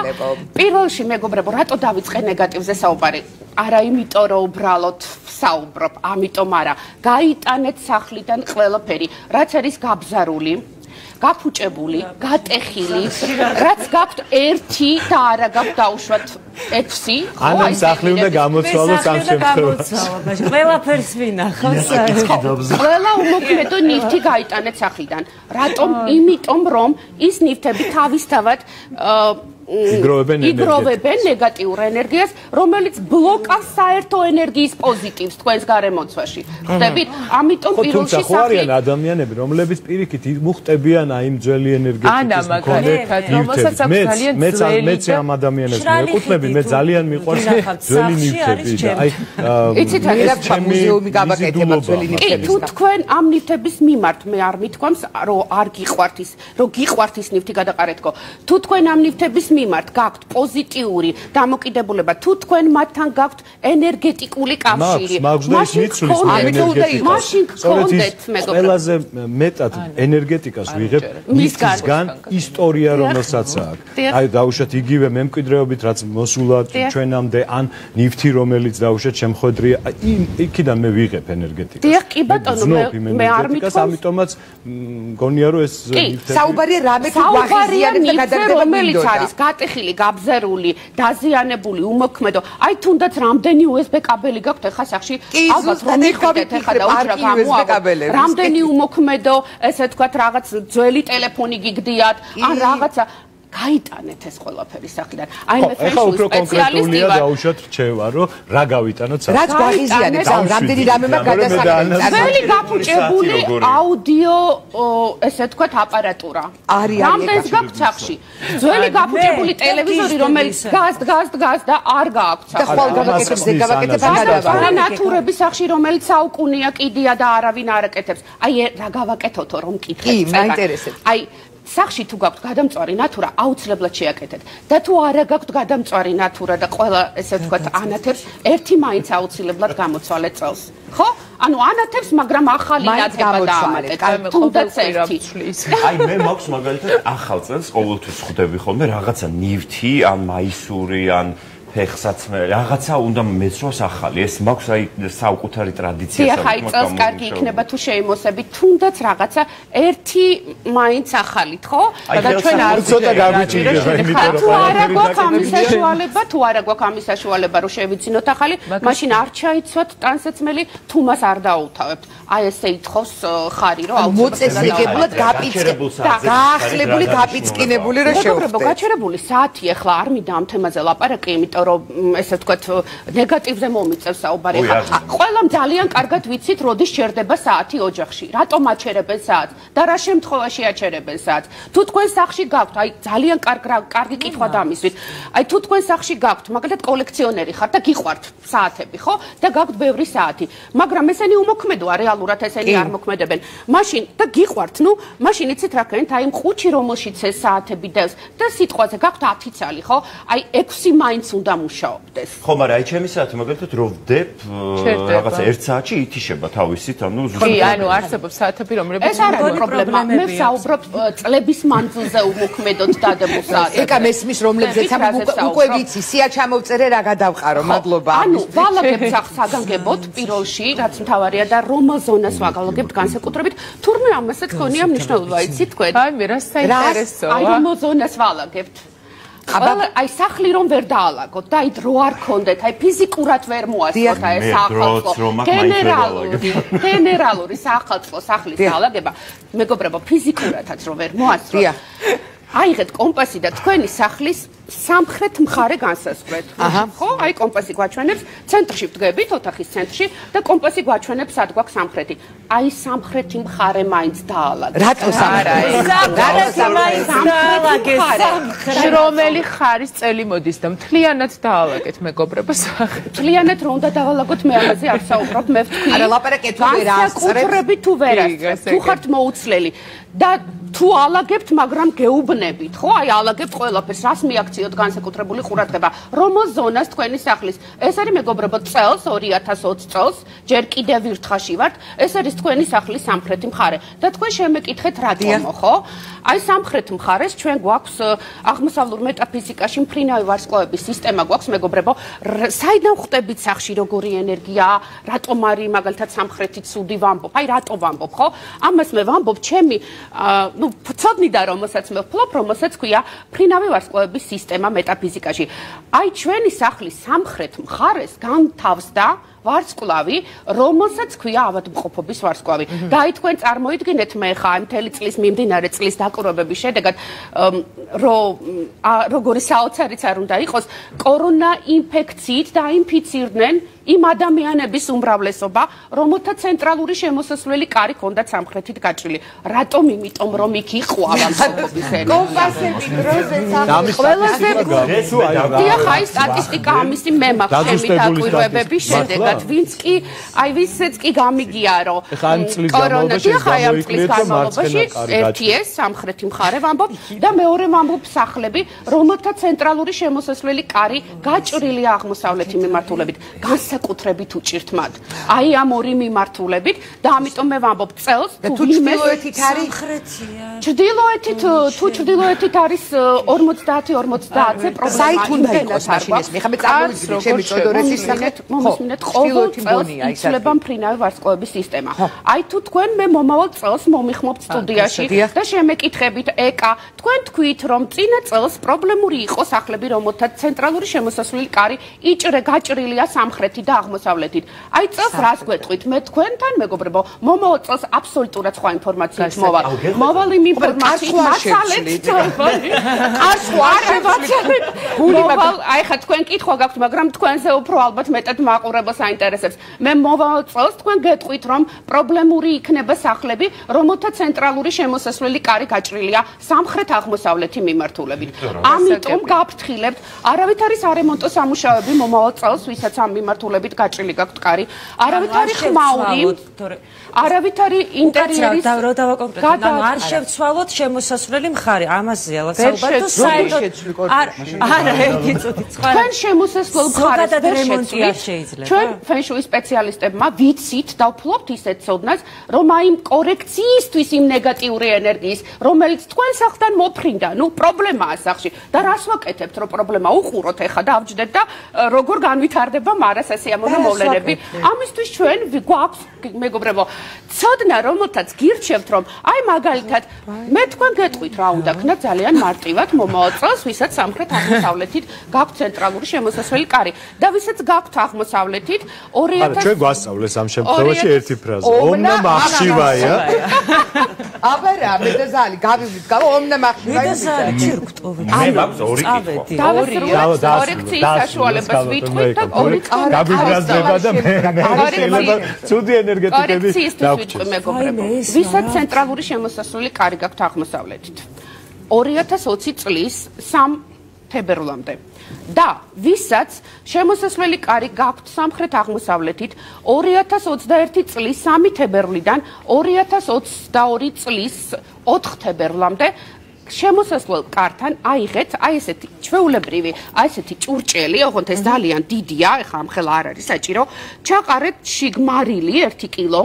პირველში მეგობრებო, რატო დავიწყე ნეგატივზე საუბარი? არა იმიტომ რომ უბრალოდ საუბრობ, ამიტომ არა. გაიტანეთ სახლიდან ყველაფერი, რაც არის გაბზარული, გაფუჭებული, გატეხილი, რაც გაქვთ ერთი და არა გაქვთ დაუშვათ ექვსი. ანამ სახლი უნდა გამოცვალოს ამ შემთხვევაში. ყველაფერს ვინახავს. ყველა უმოქმედო ნივთი გაიტანეთ სახლიდან. რატომ? იმიტომ რომ ის ნივთები თავისთავად იგროვებენ ნეგატიურ ენერგიას, რომელიც ბლოკავს საერთო ენერგიის პოზიტივს თქვენს გარემოცვაში. ხვდებით? ამიტომ პირველში სახლი. ხო არიან ადამიანები, რომლებიც პირიქით მოხტებიან აი იმ ძველი ენერგეტიკის მქონე ნივთებს. მეც მეც ამ ადამიანებს მეკუთვნები, მე ძალიან მიყვარს ძველი ნივთები და აი იცით რა მუზეუმი გავაკეთება ძველი ნივთების. თუ თქვენ ამ ნივთების მიმართ მე არ მithქვამს, რომ არ გიყვართ ის, რომ გიყვართ ის ნივთი გადაყარეთკო. თუ თქვენ ამ ნივთების მიმართ გაქვთ პოზიტიური დამოკიდებულება, თუ თქვენ მათთან გაქვთ ენერგეტიკული კავშირი, მაშინ გქონდეთ მეგობრებო. ყველაზე მეტად ენერგეტიკას ვიღებ მისგან ისტორია რომელსაც აქვს. აი დაუშვათ იგივე მემკვიდრეობით რაც მოსულა ჩვენამდე ან ნივთი რომელიც დაუშვათ შემხედრია იქიდან მე ვიღებ ენერგეტიკას. დიახ, კი ბატონო, მე არ მithქვამს, ამიტომაც მგონია რომ ეს ნივთები საუბარია რამე თუ ვაღიზიანებ და გადაგდება რომელიც არის გატეხილი, გაბზერული, დაზიანებული, უმოქმედო. აი თუნდაც რამდენი იუ ეს ბი კაბელი გაქვთ ახლა სახში? ალბათ რომ მიხვდეთ ახლა და უშრა გამოავალ. რამდენი უმოქმედო, ესე ვთქვათ, რაღაც ძველი ტელეფონი გიგდიათ, ან რაღაცა გაიტანეთ ეს ყველაფერი საიდან. აი მე ფენშუის სპეციალისტი ვარ. დაუშვათ რჩევა, რომ რა გავიტანოთ სახში. რაც გვაღიზიანებს, რამდენი რამემა გადასახადებს. ძველი გაფუჭებული აუდიო, ესე ვთქვათ, აპარატურა. რამდენს გაქვთ სახში? ძველი გაფუჭებული ტელევიზორი, რომელიც დგას, დგას, დგას და არ გააქვთ სახში. და ხვალ გავაკეთებს, ზე გავაკეთებ და ნატურების სახში, რომელიც საუკუნეა კიდია და არავინ არ აკეთებს. აი რა გავაკეთოთო რომ მკითხეთ. კი, მაინტერესებს. აი სახში თუ გაქვთ გადამწვარი ნატურა, აუცილებლად შეაკეთეთ. და თუ არა გაქვთ გადამწვარი ნატურა და ყველა ესე ვთქვათ ანათებს, ერთი მაინც აუცილებლად გამოცვალეთ წელს. ხო? ანუ ანათებს, მაგრამ ახალი ნათება დაამატეთ. თუნდაც ერთი. აი მე მაქვს მაგალითად ახალ წელს ყოველთვის ხვდები ხოლმე რაღაცა ნივთი, ან მაისური, ან ფეხსაცმელი, რაღაცა უნდა მეცროს ახალი. ეს მაქვს აი საუკუთარი ტრადიცია საერთოდ. აი წელს კარგი იქნება თუ შეიმოსებით თუნდაც რაღაცა ერთი მაინც ახალით, ხო? და ჩვენ არ ცოტა გავიჭირეთ, იმიტომ რომ თუ არა გვაქვს ამის საშუალება, თუ არა გვაქვს ამის საშუალება რომ შევიცინოთ ახალი, მაშინ არ ჩაიცვათ ტანსაცმელი, თუ მას არ დაუთავებთ. აი ესე ითხოვს ხარი რომ მოწესრიგებლად გაპიწყებული, გაახლებული, გაპიწყინებული რომ შევხვდეთ. გაჩერებული საათი ახლა არ მინდა ამ თემაზე ლაპარაკი, იმიტომ რომ ესე ვთქვათ ნეგატივზე მომიწევს საუბარი. ყველამ ძალიან კარგად ვიცით, როდის ჩერდება საათი ოჯახში. რატომ აჩერებენ საათს და რა შემთხვევაში აჩერებენ საათს. თუ თქვენ სახში გაქვთ, აი ძალიან კარგი კითხვა დამისვით. აი თუ თქვენ სახში გაქვთ, მაგალითად კოლექციონერი ხართ და გიყვართ საათები, ხო? და გაქვთ ბევრი საათი. მაგრამ ესენი უმოქმედოა, რეალურად ესენი არ მოქმედებენ. მაშინ და გიყვართ, ნუ, მაშინ იცით რა ქენთ, აი მყუჩი რომელშიც ეს საათები დევს და სიტყვაზე გაქვთ ათი წალი, ხო? აი ექვსი მაინც უნდა დამუშავდეს. ხო, მაგრამ აი ჩემი საათი მაგალითად რო ვდებ რაღაცა ერთ საათში ითიშება თავისით, ანუ ზუსტად. კი, ანუ არსებობს საათები, რომლებიც ეს არ არის პრობლემა. მე ვსაუბრობ წლების მანძილზე უმოქმედოდ დადებულ საათებს. ეკა მესმის რომლებზეც უკვე ვიცი, სია ჩამოვწერე რა გადავყარო, მადლობა. ანუ ვალაგებთ საგანგებოდ პირველში, რაც მთავარია და რომელ ზონას ვაგალაგებთ განსაკუთრებით, თურმე ამასაც ქონია მნიშვნელობა, იცით თქვენ? აი მე რა საინტერესოა. აი რომელ ზონას ვალაგებთ? აბა აი სახლი რომ ვერ დაალაგოთ და აი დრო არ ქონდეთ, აი ფიზიკურად ვერ მოასწროთ აი სახალხო. გენერალური, გენერალური სახალხო სახლის დაალაგება, მეგობრებო, ფიზიკურადაც რომ ვერ მოასწროთ. აიღეთ კომპასი და თქვენი სახლის სამხრეთ მხარე განსაზღვრეთ. ხო? აი კომპასი გვაჩვენებს, ცენტრში ვდგებით, ოთახის ცენტრში და კომპასი გვაჩვენებს სად გვაქვს სამხრეთი. აი სამხრეთი მხარე მაინც დაალაგეთ. რატო სამხრეთი? რატო მაინც დაალაგეთ? რომელი ხარის წელი მოდის და მთლიანად დაალაგეთ, მეგობრებო, სახელი. მთლიანად რომ უნდა დაალაგოთ, მე ამაზე არ საუბრობ, მე ვთქვი. არა, ლაპარაკეთ თუ ვერ ასწრებ. განსაკუთრებით თუ ვერ ასწრებ, თუ ხართ მოუცლელი და თუ ალაგებთ, მაგრამ გეუბნებით, ხო? აი ალაგებთ ყველაფერს, რას მიაქციოთ განსაკუთრებული ყურადღება. რომელ ზონას თქვენი სახლის? ეს არის მეგობრებო წელს ორი ათას ოცი წელს, ჯერ კიდევ ვირთხაში ვართ, ეს არის თქვენი სახლის სამხრეთი მხარე. და თქვენ შემეკითხეთ რატომო, ხო? აი სამხრეთ მხარეს ჩვენ გვაქვს აღმოსავლურ მეტაფიზიკაში მფრინავი ვარსკვლავების სისტემა გვაქვს, მეგობრებო. საიდან ხვდებით სახში როგორი ენერგია, რატომ არის მაგალითად სამხრეთი ცუდი ვამბობ? აი რატო ვამბობ, ხო? ამას მე ვამბობ, ჩემი ну, ცოდნიდა რომელსაც მე ვფლობ, რომელსაც ქვია მფრინავი ვარსკვლავების სისტემა მეტაფიზიკაში. აი ჩვენი სახლის სამხრეთ მხარეს განთავსდა ვარსკვლავი, რომელსაც ქვია ავადმყოფობის ვარსკვლავი. და აი თქვენ წარმოიდგინეთ მე ხა ამ მთელი წლის მიმდინარე წლის დაკვირვებების შედეგად რომ როგორი საოცარიც არ უნდა იყოს, კორონა ინფექციით დაინფიცირდნენ იმ ადამიანების უმრავლესობა, რომელთა ცენტრალური შემოსასვლელი კარი ჰქონდათ სამხრეთით გაჭრილი. რატომ? იმიტომ რომ იქ იყო ავადმყოფობის ენერგია. კომპასები დროზე სახლის ყველაზე დიახ, აი სტატისტიკა ამისი მე მაქვს ჩემი დაკვირვებების შედეგად. ნამდვილად ვინც კი აი ვისაც კი გამიგია რომ ხა ამ წლის განმავლობაში განმავლობაში ერთი ეს სამხრეთი მხარე ვამბობ და მეორე ვამბობ სახლები რომელთა ცენტრალური შემოსასვლელი კარი გაჭრილია აღმოსავლეთი მიმართულებით განსაკუთრებით უჭირთ მათ აი ამ ორი მიმართულებით და ამიტომ მე ვამბობ წელს თუ ჩრდილოეთით არის სამხრეთია ჩრდილოეთით თუ ჩრდილოეთით არის ორმოცდაათი ორმოცდაათზე პრობლემა საით უნდა იყოს მაშინ ეს მე ხა მე წარმოვიდგინე ჩემი წოდორეთის სახეთ მომისმინეთ ყოველ წელს იცვლება მფრინავი ვარსკვლავების სისტემა აი თუ თქვენ მე მომავალ წელს მომიხმობთ სტუდიაში და შემეკითხებით ეკა თქვენ თქვით რომ წინა წელს პრობლემური იყო სახლები რომელთა ცენტრალური შემოსასვლელი კარი იჭრე გაჭრილია სამხრეთით და აღმოსავლეთით აი წელს რას გვეტყვით მე თქვენთან მეგობრებო მომავალ წელს აბსოლუტურად სხვა ინფორმაციით მოვალ მოვალ იმ ინფორმაციით მასალეთ არ სხვა შევაცვალეთ მოვალ აი ხა თქვენ კითხვა გაქვთ მაგრამ თქვენზე უფრო ალბათ მეტად მაყურებელს აინტერესებს მე მოვალ წელს თქვენ გეტყვით რომ პრობლემური იქნება სახლები რომელთა ცენტრალური შემოსასვლელი კარი გაჭრილია სამხრეთ აღმოსავლეთი მიმართულებით ამიტომ გაფრთხილებთ არავით არის არემონტო სამუშაოები მომავალ წელს ვისაც ამ მიმართულებით გაჭრილი გაქვთ კარი არავით არის ხმაური არავით არის ინტერიერის და დავაკონკრეტოთ ანუ არ შევცვალოთ შემოსასვლელი მხარე ამაზეა საუბარი თუ საერთოდ არ არა ერთი წუთი სხვა თქვენ შემოსასვლელ მხარეს რემონტია შეიძლება ჩვენ ფენშუის სპეციალისტებმა ვიცით და ვფლობთ ისეთ ცოდნას რომ აი კორექციისთვის იმ ნეგატიური ენერგიის რომელიც თქვენ სახლთან მოფრინდა ნუ პრობლემაა სახლში და რას ვაკეთებთ რომ პრობლემა უყუროთ ეხა და ავჯდეთ და როგორ განვითარდება მარასასიამოვნო მოვლენები ამისთვის ჩვენ გვაქვს მეგობრებო ცოდნა რომელთაც გირჩევთ რომ აი მაგალითად მე თქვენ გეტყვით რა უნდა ქნა ძალიან მარტივად მომავალ წელს ვისაც სამხრეთ აღმოსავლეთით გაქვთ ცენტრალური შემოსასვლელი კარი და ვისაც გაქვთ აღმოსავლეთით ორი ათას ჩვენ გვასწავლეს ამ შემთხვევაში ერთი ფრაზა ომნა მახშივაია აბა რა მე და ზალი გავივით გავ ომნა მახშივაია მე მაქვს ორი კითხვა კორექციის საშუალებას ვიტყვით და ორი გაბიბრაზდება და მე შეიძლება ცუდი ენერგეტიკები დავჭირ მეგობრებო ვისაც ცენტრალური შემოსასვლელი კარი გაქვთ აღმოსავლეთით ორი ათას ოცი წლის სამ თებერვლამდე და ვისაც შემოსასვლელი კარი გაქვთ სამხრეთ აღმოსავლეთით ორი ათას ოცდაერთი წლის სამი თებერვლიდან ორი ათას ოცდაორი წლის ოთხ თებერვლამდე შემოსასვლელ კართან აიღეთ აი ესეთი ჩვეულებრივი აი ესეთი ჭურჭელი ოღონდ ეს ძალიან დიდია ეხლა ამ ხელა არ არის საჭირო ჩაყარეთ შიგმარილი ერთი კილო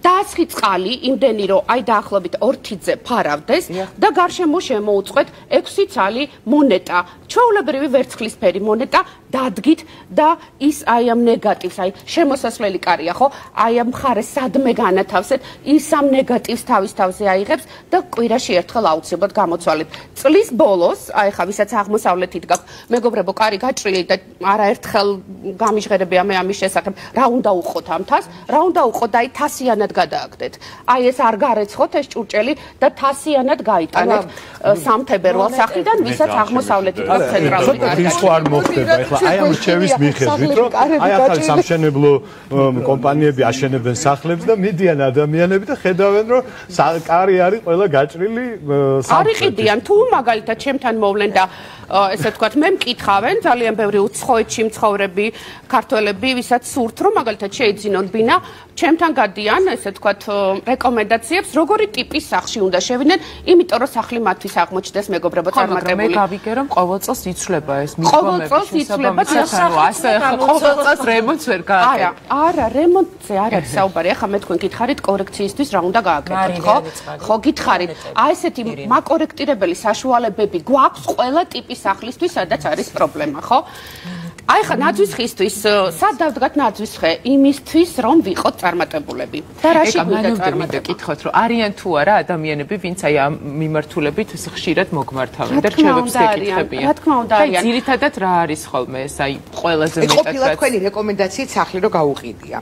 დაასხი წყალი იმდენი რომ აი დაახლოებით ორთიძე ფარავდეს და გარშემო შემოუწყვეთ ექვსი ცალი მონეტა ჩვეულებრივი ვერცხლისფერი მონეტა დადგით და ის აი ამ ნეგატივს აი შემოსასვლელი კარია ხო აი ამ მხარეს სადმე განათავსეთ ის ამ ნეგატივს თავის თავზე აიღებს და კვირაში ერთხელ აუცილებლად გამოცვალეთ წლის ბოლოს აი ხა ვისაც აღმოსავლეთით გაქვთ მეგობრებო კარი გაჭრილი და არაერთხელ გამიჟღერებია მე ამის შესახებ რა უნდა უყოთ ამ თას რა უნდა უყოთ და აი თასიანად გადააგდეთ აი ეს არ გარეცხოთ ეს ჭურჭელი და თასიანად გაიტანეთ სამ თებერვალს სახლიდან ვისაც აღმოსავლეთით გაქვთ ცენტრალური კარი ის ხო არ მოხდება ეხლა აი ამ რჩევის მიხედვით რომ აი ახალი სამშენებლო კომპანიები აშენებენ სახლებს და მიდიან ადამიანები და ხედავენ რომ კარი არის ყველა გაჭრილი სამხრეთით არ იყიდიან თუ მაგალითად ჩემთან მოვლენ და ესე ვთქვათ მე მკითხავენ ძალიან ბევრი უცხოეთში მცხოვრები ქართველები ვისაც სურთ რომ მაგალითად შეიძინონ ბინა ჩემთან გადიან ესე ვთქვათ რეკომენდაციებს როგორი ტიპის სახლში უნდა შევიდნენ იმიტომ რომ სახლი მათთვის აღმოჩნდეს მეგობრებო წარმატებული მე გავიგე რომ ყოველ წელს იცვლება ეს მიდგომები შესაბამისად ყოველ წელს რემონტს ვერ გააკეთებ არა არა რემონტზე არ არის საუბარი ახლა მე თქვენ გითხარით კორექციისთვის რა უნდა გააკეთოთ ხო ხო გითხარით აი ესეთი მაკორექტირებელი საშუალებები გვაქვს ყველა ტიპის სახლისთვის სადაც არის პრობლემა ხო აი ხა ნაძვის ხისთვის სად დავდგათ ნაძვის ხე იმისთვის რომ ვიყოთ წარმატებულები და რაში გვინდა წარმატება გითხოთ რომ არიან თუ არა ადამიანები ვინც აი ამ მიმართულებით ხშირად მოგმართავენ და რჩევებს ეკითხებიან რა თქმა უნდა არიან ძირითადად რა არის ხოლმე ეს აი ყველაზე მეტად ყოფილა თქვენი რეკომენდაციით სახლი რო გაუყიდია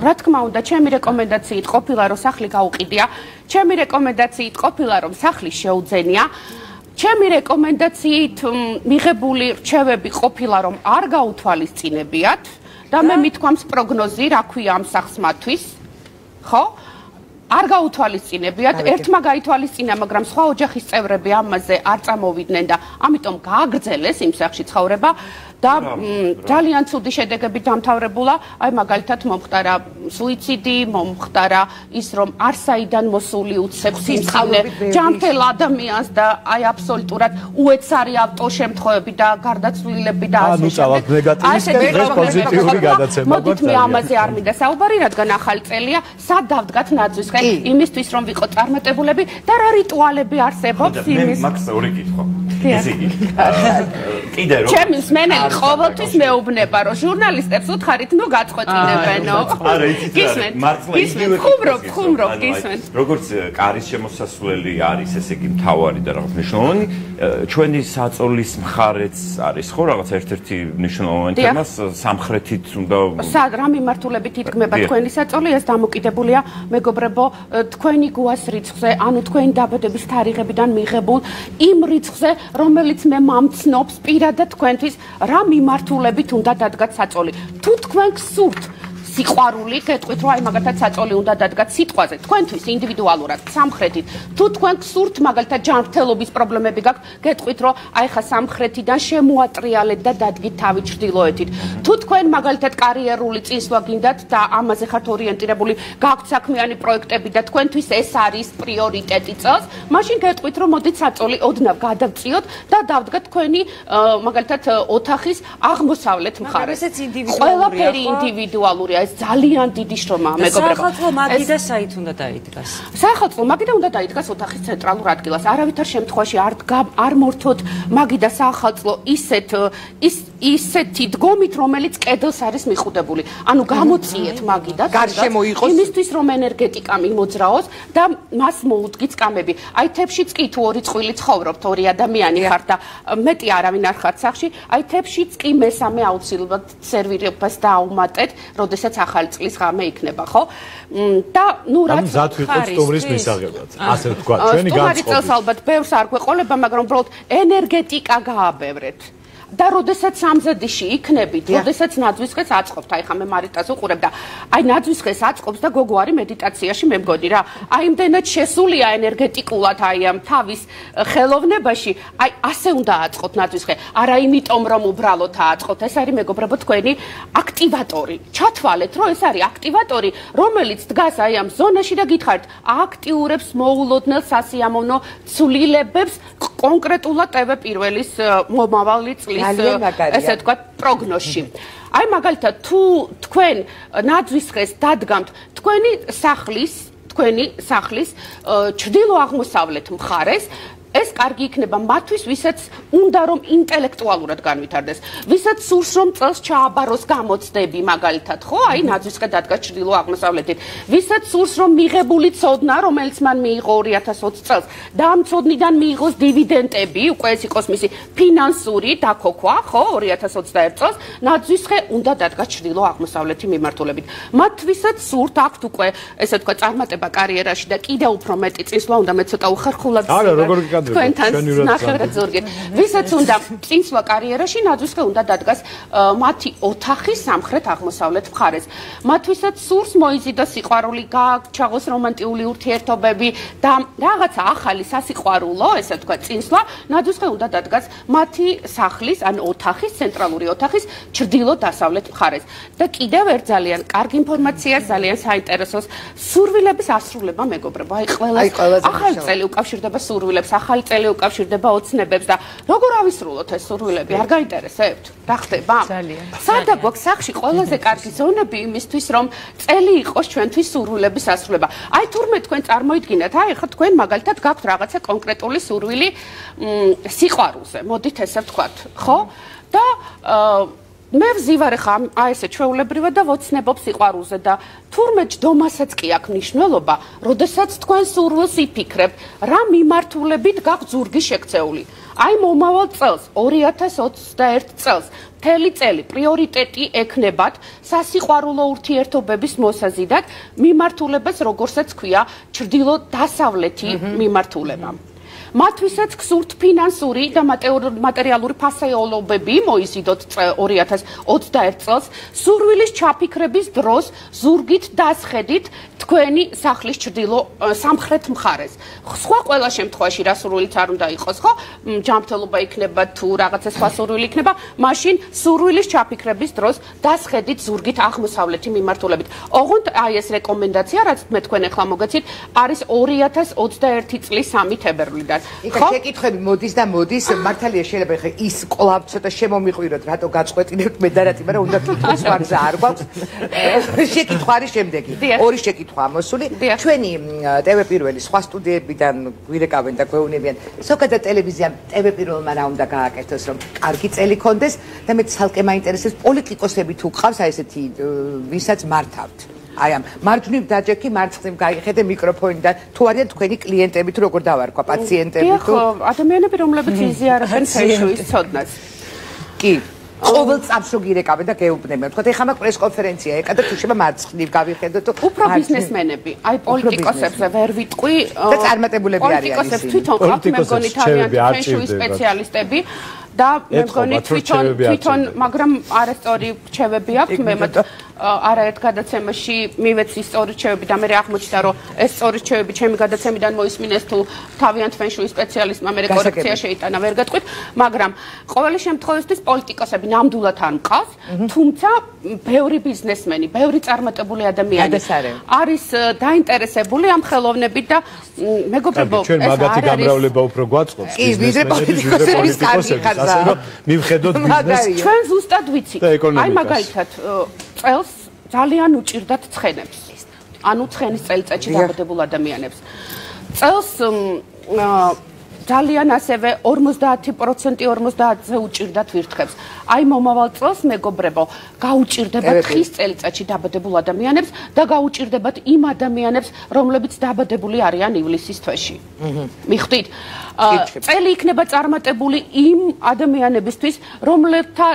რა თქმა უნდა ჩემი რეკომენდაციით ყოფილა რომ სახლი გაუყიდია ჩემი რეკომენდაციით ყოფილა რომ სახლი შეუძენია ჩემი რეკომენდაციით მიღებული რჩევები ყოფილა რომ არ გაუთვალისწინებიათ და მე მithქვამს პროგნოზი რა ქვია ამ სახს მათთვის ხო არ გაუთვალისწინებიათ ერთმა გაითვალისწინა მაგრამ სხვა ოჯახის წევრები ამაზე არ წამოვიდნენ და ამიტომ გააგრძელეს იმ სახში ცხოვრება და ძალიან ცუდი შედეგები დამთავრებულა, აი მაგალითად მომხდარა სუიციდი, მომხდარა ის რომ არსაიდან მოსული უცებ სიმსივნე ჯანმრთელ ადამიანს და აი აბსოლუტურად უეცარი ავტოშემთხვევები და გარდაცვლილები და ასე შემდეგ. ეს პოზიტიური გადაცემა. მოდით მე ამაზე არ მინდა საუბარი, რადგან ახალი წელია, სად დავდგათ ნაძვის ხე იმისთვის რომ ვიყოთ წარმატებულები და რა რიტუალები არსებობს იმის. მე მაქვს ორი კითხვა. ესე იგი კიდე რომ ჩემი მსმენელი ყოველთვის მეუბნება რომ ჟურნალისტებს უთხარით ნუ გაწყვეტინებენო არა იცით მართლა იგივე ხუმრობ ხუმრობ გისმენთ როგორც კარის შემოსასვლელი არის ესე იგი მთავარი და რაღაც მნიშვნელოვანი ჩვენი საწოლის მხარეც არის ხო რაღაც ერთ-ერთი მნიშვნელოვანი თემა სამხრეთით უნდა სად რა მიმართულებით ითქმება თქვენი საწოლი ეს დამოკიდებულია მეგობრებო თქვენი გუას რიცხვზე ანუ თქვენი დაბადების თარიღებიდან მიღებულ იმ რიცხვზე რომელიც მე მამცნობს პირადად თქვენთვის რა მიმართულებით უნდა დადგათ საწოლი თუ თქვენ გსურთ სიყვარული გეტყვით რომ აი მაგალითად საწოლი უნდა დადგათ სიტყვაზე თქვენთვის ინდივიდუალურად სამხრეთით თუ თქვენ გსურთ მაგალითად ჯანმრთელობის პრობლემები გაქვთ გეტყვით რომ აი ხა სამხრეთიდან შემოატრიალეთ და დადგით თავი ჩრდილოეთით თუ თქვენ მაგალითად კარიერული წინსვლა გინდათ და ამაზე ხართ ორიენტირებული გაქვთ საქმიანი პროექტები და თქვენთვის ეს არის პრიორიტეტი წელს მაშინ გეტყვით რომ მოდით საწოლი ოდნავ გადავწიოთ და დავდგათ თქვენი მაგალითად ოთახის აღმოსავლეთ მხარეს ყველაფერი ინდივიდუალურია ეს ძალიან დიდი შრომაა მეგობრებო. სახალხო მაგიდა საით უნდა დაიდგას? სახალხო მაგიდა უნდა დაიდგას ოთახის ცენტრალურ ადგილას. არავითარ შემთხვევაში არ არ მორთოთ მაგიდა სახალხო ისეთ ის ისეთი დგომით რომელიც კედელს არის მიხუდებული. ანუ გამოწიეთ მაგიდას გარშემო იყოს იმისთვის რომ ენერგეტიკა მიმოძრაოს და მას მოუდგით კამები. აი თებშიც კი თუ ორი წყვილი ცხოვრობთ, ორი ადამიანი ხართ და მეტი არავინ არ ხართ სახში, აი თებშიც კი მესამე აუცილებლად სერვირებას დააუმატეთ, როდესაც ახალი წლის ღამე იქნება, ხო? და ნუ რაც მზად ვიყოთ სტუმრის მისაღებად. ასე ვთქვა, ჩვენი განწყობი. სტუმარი წელს ალბათ ბევრს არ გვეყოლება, მაგრამ უბრალოდ ენერგეტიკა გააბევრეთ. და როდესაც სამზადიში იქნებით, როდესაც ნაძვის ხეს აწყობთ, აი ხა მე მარიტას უყურებ და აი ნაძვის ხეს აწყობს და გოგო არის მედიტაციაში მე მგონი რა. აი იმდენად შესულია ენერგეტიკულად აი ამ თავის ხელოვნებაში, აი ასე უნდა აწყოთ ნაძვის ხე. არა იმიტომ რომ უბრალოდ აწყოთ, ეს არის მეგობრებო თქვენი აქტივატორი. ჩათვალეთ რომ ეს არის აქტივატორი, რომელიც დგას აი ამ ზონაში და გითხარით, აქტიურებს მოულოდნელ სასიამოვნო ცვლილებებს კონკრეტულად ტევ პირველის მომავალი წლის ესე ვთქვათ პროგნოზში. აი მაგალითად თუ თქვენ ნაძვის ხეს დადგამთ თქვენი სახლის თქვენი სახლის ჩრდილო აღმოსავლეთ მხარეს ეს კარგი იქნება მათთვის, ვისაც უნდა რომ ინტელექტუალურად განვითარდეს, ვისაც სურს რომ წელს ჩააბაროს გამოცდები მაგალითად, ხო? აი ნაძვის ხე დადგა ჩრდილო აღმოსავლეთით. ვისაც სურს რომ მიღებული ცოდნა, რომელიც მან მიიღო ორი ათას ოცი წელს, და ამ ცოდნიდან მიიღოს დივიდენდები, უკვე ეს იყოს მისი ფინანსური დაქოქვა, ხო? ორი ათას ოცდაერთ წელს ნაძვის ხე უნდა დადგა ჩრდილო აღმოსავლეთი მიმართულებით. მათ ვისაც სურთ აქვთ უკვე, ესე ვთქვა, წარმატება კარიერაში და კიდევ უფრო მეტი წინსვლა უნდა მე ცოტა უხერხულად არა, როგორ თქვენთან ნახევრად ზურგით. ვისაც უნდა წინსვლა კარიერაში, ნაძვის ხე უნდა დადგას მათი ოთახის სამხრეთ აღმოსავლეთ მხარეს. მათ ვისაც სურს მოიზიდოს სიყვარული, გაჩაღოს რომანტიული ურთიერთობები და რაღაცა ახალი სასიყვარულო, ესე ვთქვა, წინსვლა, ნაძვის ხე უნდა დადგას მათი სახლის, ან ოთახის, ცენტრალური ოთახის ჩრდილო-დასავლეთ მხარეს. და კიდევ ერთ ძალიან კარგი ინფორმაციას, ძალიან საინტერესოს სურვილების ასრულება მეგობრებო. აი ყველას ახალი წელი უკავშირდება სურვილებს, ახალი წელი უკავშირდება ოცნებებს და როგორ ავისრულოთ ეს სურვილები? არ გაინტერესებთ? რა ხდება? ძალიან. სადა გვაქვს სახში ყველაზე კარგი ზონები იმისთვის, რომ წელი იყოს ჩვენთვის სურვილების ასრულება. აი თურმე თქვენ წარმოიდგინეთ, აი ხა თქვენ მაგალითად გაქვთ რაღაცა კონკრეტული სურვილი სიყვარულზე. მოდით ესე ვთქვათ, ხო? და მე ვზივარ ხა აი ესე ჩვეულებრივად და ვოცნებობ სიყვარულზე და თურმე ჯდომასაც კი აქვს მნიშვნელობა, როდესაც თქვენ სურვილს იფიქრებთ, რა მიმართულებით გაქვთ ზურგი შექცეული. აი მომავალ წელს, ორი ათას ოცდაერთ წელს, მთელი წელი პრიორიტეტი ექნებათ სასიყვარულო ურთიერთობების მოსაზიდად მიმართულებას, როგორცაც ქვია, ჩრდილო-დასავლეთი მიმართულება. მათთვისაც გსურთ ფინანსური და მატერიალური ფასეულობები მოიზიდოთ ორი ათას ოცდაერთ წელს სურვილის ჩაფიქრების დროს ზურგით დასხედით თქვენი სახლის ჩრდილო სამხრეთ მხარეს. სხვა ყველა შემთხვევაში რა სურვილიც არ უნდა იყოს, ხო? ჯანმრთელობა იქნება თუ რაღაცა სხვა სურვილი იქნება, მაშინ სურვილის ჩაფიქრების დროს დასხედით ზურგით აღმოსავლეთი მიმართულებით. ოღონდ აი ეს რეკომენდაცია, რაც მე თქვენ ახლა მოგეცით, არის ორი ათას ოცდაერთი წლის სამი თებერვლიდან. ხო? შეკითხვები მოდის და მოდის, მართალია შეიძლება ხე ის კვლავ ცოტა შემომიყვიროთ, რატო გაწყვეტინებთ მე და რატი, მაგრამ უნდა თვითონ ვარზე არ გვაქვს. შეკითხვა არის შემდეგი. ორი შეკითხვა ამოსული. ჩვენი ტევ პირველი სხვა სტუდიებიდან გვირეკავენ და გვეუბნებიან, ზოგადად ტელევიზიამ ტევ პირველმა რა უნდა გააკეთოს, რომ კარგი წელი კონდეს და მე ცალკე მაინტერესებს პოლიტიკოსები თუ ყავს აი ესეთი ვისაც მართავთ. აი ამ მარჯვნივ დაჯექი, მარცხნივ გაიხედე მიკროფონიდან, თუ არიან თქვენი კლიენტები თუ როგორ დავარქვა, პაციენტები თუ ადამიანები, რომლებიც იზიარებენ ფეშუის ცოდნას. კი. ყოველ წამს რო გირეკავენ და გეუბნებიან. თქვათ ეხლა მაგ პრესკონფერენცია ეკა და თუ შეიძლება მარცხნივ გავიხედო თუ უფრო ბიზნესმენები, აი პოლიტიკოსებზე ვერ ვიტყვი და წარმატებულები არიან ისინი. პოლიტიკოსებს თვითონ ყავთ მე მგონი თავიანთი ფეშუის სპეციალისტები და მე მგონი თვითონ თვითონ მაგრამ არასწორი რჩევები აქვს მე მათ არაერთ გადაცემაში მივეცი სწორი რჩევები და მე აღმოჩნდა რომ ეს სწორი რჩევები ჩემი გადაცემიდან მოისმინეს თუ თავიანთ ფენშუის სპეციალისტმა მე კორექცია შეიტანა ვერ გეტყვით მაგრამ ყოველი შემთხვევისთვის პოლიტიკოსები ნამდვილად არ მყავს თუმცა ბევრი ბიზნესმენი ბევრი წარმატებული ადამიანი არის დაინტერესებული ამ ხელოვნებით და მეგობრებო ჩვენ მაგათი გამრავლება უფრო გვაწყობს ბიზნესმენების ასე რომ მივხედოთ ბიზნესს ჩვენ ზუსტად ვიცით აი მაგალითად წელს ძალიან უჭირდათ ცხენებს. ანუ ცხენის წელიწადში დაბადებულ ადამიანებს. წელს ძალიან ასევე ორმოცდაათი პროცენტი ორმოცდაათზე უჭირდათ ვირთხებს. აი მომავალ წელს მეგობრებო, გაუჭირდებათ ხის წელიწადში დაბადებულ ადამიანებს და გაუჭირდებათ იმ ადამიანებს, რომლებიც დაბადებული არიან ივლისის თვეში. მიხვდით? წელი იქნება წარმატებული იმ ადამიანებისთვის, რომლებთა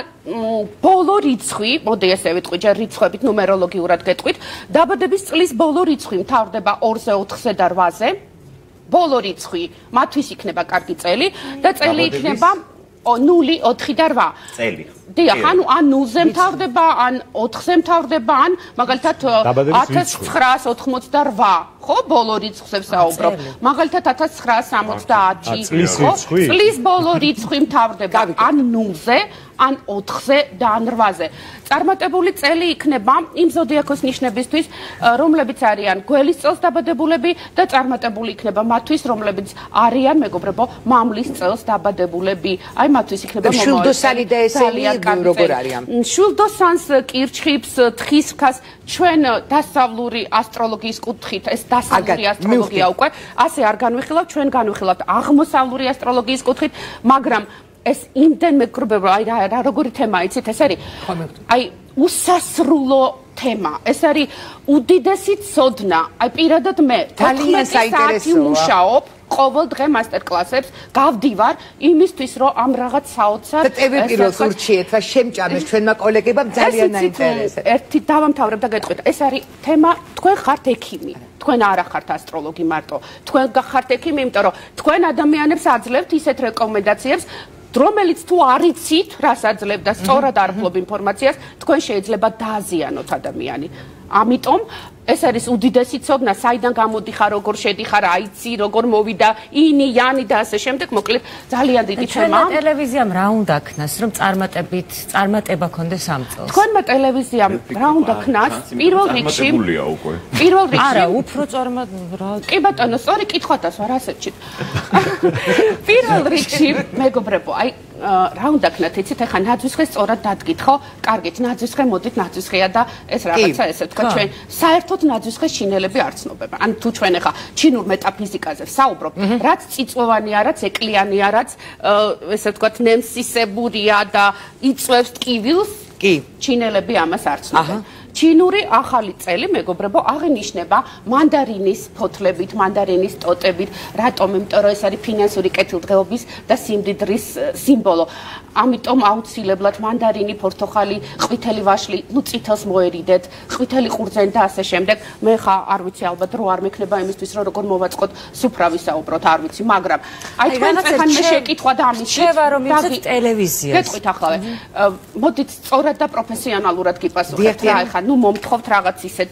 ბოლო რიცხვი, მოდი ესე ვიტყვი, ჯერ რიცხვებით ნუმეროლოგიურად გეტყვით, დაბადების წლის ბოლო რიცხვი მთავრდება ორზე, ოთხზე და რვაზე. ბოლო რიცხვი მათთვის იქნება კარგი წელი და წელი იქნება ნული, ოთხი და რვა. წელი. დიახ, ანუ ან ნულზე მთავრდება, ან ოთხზე მთავრდება, ან მაგალითად ათას ცხრაას ოთხმოცდარვა, ხო, ბოლო რიცხვზე ვსაუბრობ. მაგალითად ათას ცხრაას სამოცდაათი, ხო? წლის ბოლო რიცხვი მთავრდება ან ნულზე, ან ოთხზე და ან რვაზე. წარმატებული წელი იქნება იმ ზოდიაქოს ნიშნებისთვის, რომლებიც არიან გველის წელს დაბადებულები და წარმატებული იქნება მათთვის, რომლებიც არიან, მეგობრებო, მამლის წელს დაბადებულები. აი მათთვის იქნება შულდოსანი და ესენი როგორ არიან? შულდოსანს, კირჩხიბს, თხისქას ჩვენ დასავლური ასტროლოგიის კუთხით, ეს დასავლური ასტროლოგია უკვე, ასე არ განვიხილავთ, ჩვენ განვიხილავთ აღმოსავლური ასტროლოგიის კუთხით, მაგრამ ეს იმდენ მეგობრებო, აი რა როგორი თემაა, იცით, ეს არის აი უსასრულო თემა. ეს არის უდიდესი ცოდნა. აი პირადად მე ძალიან საინტერესოა. მუშაობ ყოველ დღე მასტერკლასებს გავდივარ იმისთვის რომ ამ რაღაც საოცარ და ტევ პირველს ურჩიეთ და შემჭამეს ჩვენმა კოლეგებმა ძალიან აინტერესებს. ერთი დავამთავრებ და გეტყვით, ეს არის თემა, თქვენ ხართ ექიმი. თქვენ არ ახართ ასტროლოგი მარტო. თქვენ გახართ ექიმი, იმიტომ რომ თქვენ ადამიანებს აძლევთ ისეთ რეკომენდაციებს რომელიც თუ არიცით, რას აძლევ და სწორად არ ფლობ ინფორმაციას, თქვენ შეიძლება დააზიანოთ ადამიანი. ამიტომ ეს არის უდიდესი ცოდნა, საიდან გამოდიხარ, როგორ შედიხარ, აიცი, როგორ მოვიდა, ინი, იანი და ასე შემდეგ, მოკლედ ძალიან დიდი თემა. ჩვენ ტელევიზიამ რა უნდა ქნას, რომ წარმატებით, წარმატება ქონდეს ამ წელს? თქვენმა ტელევიზიამ რა უნდა ქნას? პირველ რიგში პირველ რიგში არა, უფრო წარმატება. კი ბატონო, სწორი კითხვათას ვარ ასეთშიც. პირველ რიგში, მეგობრებო, აი რა უნდა ქნათ, იცით, ახლა ნაძვისხე სწორად დადგით, ხო? კარგით, ნაძვისხე მოდით, ნაძვისხეა და ეს რაღაცა ესე თქვა ჩვენ საერთოდ ნაძვისხეს ჩინელები არ ცნობენ. ან თუ ჩვენ ახლა ჩინურ მეტაფიზიკაზე ვსაუბრობთ, რაც წიწვოვანია, რაც ეკლიანია, რაც ესე ვთქვათ ნემსისებურია და იწვევს ტკივილს, კი, ჩინელები ამას არ ცნობენ. ჩინური ახალი წელი, მეგობრებო, აღინიშნება მანდარინის ფოთლებით, მანდარინის ტოტებით, რატომ? იმიტომ რომ ეს არის ფინანსური კეთილდღეობის და სიმდიდრის სიმბოლო. ამიტომ აუცილებლად მანდარინი, ფორთოხალი, ყვითელი ვაშლი, ნუ წითელს მოერიდეთ, ყვითელი ყურძენი და ასე შემდეგ. მე ხა არ ვიცი ალბათ რო არ მექნება იმისთვის რომ როგორ მოვაწყოთ სუფრა ვისაუბროთ, არ ვიცი, მაგრამ აი თქვენ ეხან მე შეკითხვა და ამის შევა რომ იცით ტელევიზიას. გეტყვით ახლა. მოდით სწორად და პროფესიონალურად გიპასუხებთ რა ეხა ნუ მომთხოვთ რაღაც ისეთ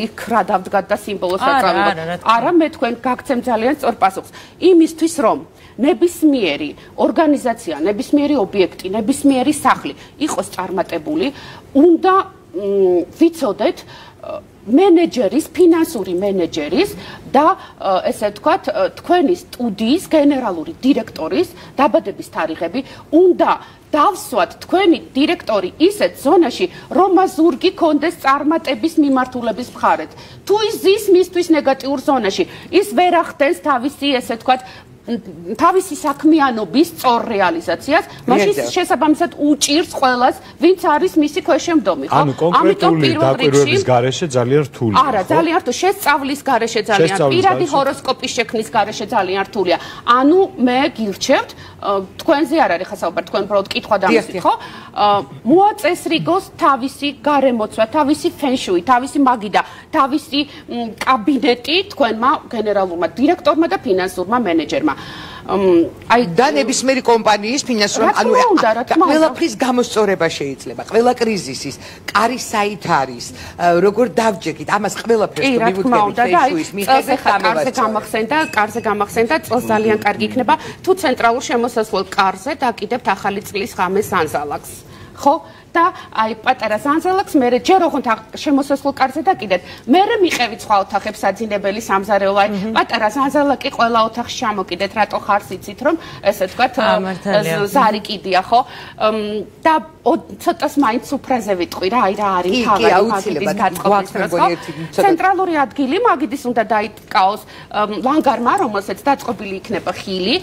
იქ რა დავდგათ და სიმბოლოს აწარმოებთ. არა, მე თქვენ გაგცემ ძალიან სწორ პასუხს. იმისთვის რომ ნებისმიერი ორგანიზაცია, ნებისმიერი ობიექტი, ნებისმიერი სახლი იყოს წარმატებული, უნდა ვიცოდეთ მენეჯერის, ფინანსური მენეჯერის და ესე ვთქვათ, თქვენი სტუდიის გენერალური დირექტორის დაბადების თარიღები უნდა დავსვათ თქვენი დირექტორი ისეთ ზონაში, რომ მას ზურგი კონდეს წარმატების მიმართულების მხარეთ. თუ ის ზის მისთვის ნეგატიურ ზონაში, ის ვერ ახდენს თავისი, ესე ვთქვათ, თავისი საქმიანობის სწორ რეალიზაციას, მაშინ შესაბამისად უჭირს ყველას, ვინც არის მისი ქვეშემდომი, ხო? ანუ კონკრეტული დაკვირვების გარეშე ძალიან რთულია. არა, ძალიან რთულია, შესწავლის გარეშე ძალიან, პირადი ჰოროსკოპის შექმნის გარეშე ძალიან რთულია. ანუ მე გირჩევთ, თქვენზე არ არის ხა საუბარი, თქვენ უბრალოდ კითხვა დამისვით, ხო? მოაწესრიგოს თავისი გარემოცვა, თავისი ფენშუი, თავისი მაგიდა, თავისი კაბინეტი თქვენმა გენერალურმა დირექტორმა და ფინანსურმა მენეჯერმა. აი და ნებისმიერი კომპანიის ფინანსური ანუ ყველაფრის გამოსწორება შეიძლება, ყველა კრიზისის კარი საით არის, როგორ დავჯექით, ამას ყველაფერს მივუძებით ფეიშუის მიხედვით კარზე გამახსენდა, კარზე გამახსენდა, წელს ძალიან კარგი იქნება, თუ ცენტრალურ შემოსასვლელ კარზე დაკიდებთ ახალი წლის ღამეს ანზალაკს. ხო? და აი პატარა ზანზალაკს მე ჯერ ოღონდ შემოსასვლელ კარზე დაკიდეთ. მე მიყევით სხვა ოთახებს საძინებელი სამზარეულო, აი პატარა ზანზალაკი ყველა ოთახში ჩამოკიდეთ, რატო ხარს იცით რომ ესე ვთქვათ ზარი კიდია, ხო? და ცოტას მაინც სუფრაზე ვიტყვი რა, აი რა არის თავი მაგიდის გაწყობის დროს, ხო? ცენტრალური ადგილი მაგიდის უნდა დაიკავოს ლანგარმა, რომელსაც დაწყობილი იქნება ხილი.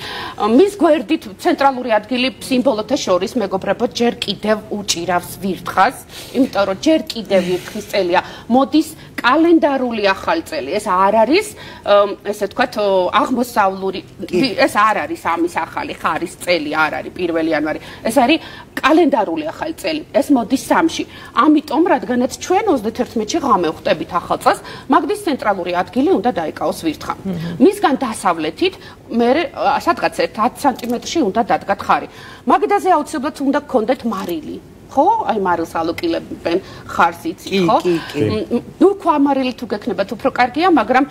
მის გვერდით ცენტრალური ადგილი სიმბოლოთა შორის მეგობრებო ჯერ კიდევ უჭირავს ვირთხას, იმიტომ რომ ჯერ კიდევ ვირთხის წელია, მოდის კალენდარული ახალი წელი. ეს არ არის, ესე ვთქვათ, აღმოსავლური, ეს არ არის ამის ახალი ხარის წელი, არ არის პირველი იანვარი. ეს არის კალენდარული ახალი წელი. ეს მოდის სამში. ამიტომ, რადგანაც ჩვენ ოცდაათი ღამე ვხვდებით ახალ წელს, მაგდის ცენტრალური ადგილი უნდა დაიკავოს ვირთხა. მისგან დასავლეთით, მე სადღაც ათი სანტიმეტრში უნდა დადგათ ხარი. მაგიდაზე აუცილებლად უნდა გქონდეთ მარილი. ხო? აი მარილს ალოკილებენ ხარს იცით, ხო? ნუ ქვამარილი თუ გექნებათ უფრო კარგია, მაგრამ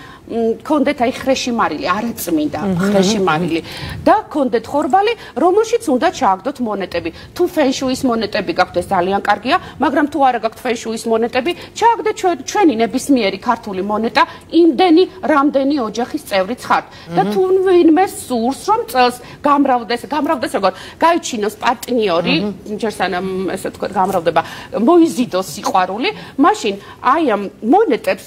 გქონდეთ აი ხრეში მარილი, არაწმინდა ხრეში მარილი და გქონდეთ ხორბალი, რომელშიც უნდა ჩააგდოთ მონეტები. თუ ფენშუის მონეტები გაქვთ, ეს ძალიან კარგია, მაგრამ თუ არა გაქვთ ფენშუის მონეტები, ჩააგდეთ ჩვენი ნებისმიერი ქართული მონეტა, იმდენი, რამდენი ოჯახის წევრიც ხართ. და თუ ვინმე სურს, რომ წელს გამრავდეს, გამრავდეს როგორ, გაიჩინოს პარტნიორი, ჯერ სანამ ესე ვთქვათ, გამრავდება, მოიზიდოს სიყვარული, მაშინ აი ამ მონეტებს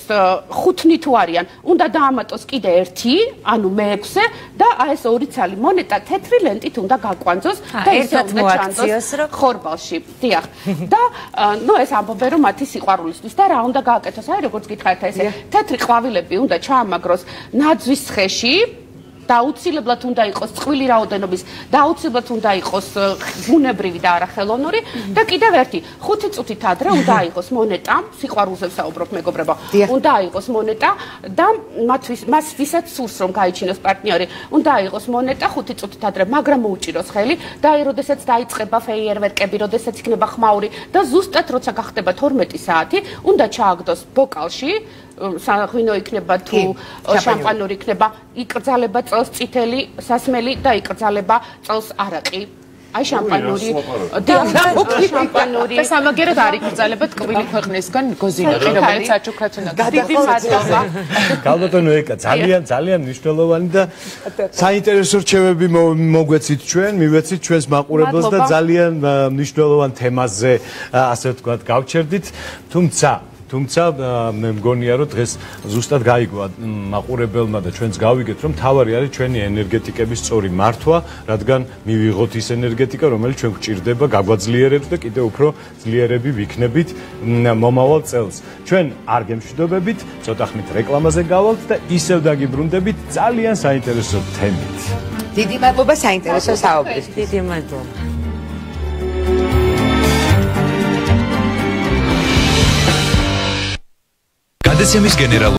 ხუთნი თუ არიან, უნდა დაამატოს კიდე ერთი, ანუ მეექვსე და აი ეს ორი ცალი მონეტა თეთრი ლენტით უნდა გაკვანძოს და ისე უნდა ჩანდეს ხორბალში. დიახ. და ნუ ეს ამბობენ რომ მათი სიყვარულისთვის და რა უნდა გააკეთოს? აი როგორც გითხარით, ესე თეთრი ყვავილები უნდა ჩაამაგროს ნაძვის თხეში. და აუცილებლად უნდა იყოს წყვილი რაოდენობის და აუცილებლად უნდა იყოს ბუნებრივი და არა ხელოვნური და კიდევ ერთი ხუთი წუთით ადრე უნდა იყოს მონეტა, სიყვარულზე ვსაუბრობ მეგობრებო, უნდა იყოს მონეტა და მათთვის მას ვისაც სურს რომ გაიჩინოს პარტნიორი, უნდა იყოს მონეტა ხუთი წუთით ადრე, მაგრამ მოუჭიროს ხელი და აი როდესაც დაიწყება ფეიერვერკები, როდესაც იქნება ხმაური და ზუსტად როცა გახდება თორმეტი საათი, უნდა ჩააგდოს ბოკალში საღვინო იქნება თუ შამპანური იქნება, იკრძალება წელს წითელი სასმელი და იკრძალება წელს არაყი. აი შამპანური და შამპანური და სამაგერად არ იკრძალება ტკბილი ქვეყნისგან გოზინაკი, რომელიც აჩუქრათ უნდა. დიდი მადლობა. გალბატონო ეკა, ძალიან ძალიან მნიშვნელოვანი და საინტერესო რჩევები მოგვეცით ჩვენ, მივეცით ჩვენს მაყურებელს და ძალიან მნიშვნელოვან თემაზე, ასე ვთქვათ, გავჩერდით, თუმცა თუმცა მე მგონია რომ დღეს ზუსტად გაიგო მაყურებელმა და ჩვენც გავიგეთ რომ თავარი არის ჩვენი ენერგეტიკების სწორი მართვა, რადგან მივიღოთ ის ენერგეტიკა, რომელიც ჩვენ გვჭირდება, გაგვაძლიერებს და კიდევ უფრო ძლიერები ვიქნებით მომავალ წელს. ჩვენ არ გემშვიდობებით, ცოტა ხნით რეკლამაზე გავალთ და ისევ დაგიბრუნდებით ძალიან საინტერესო თემით. დიდი მადლობა საინტერესო საუბრისთვის. დიდი მადლობა. გადაცემის გენერალური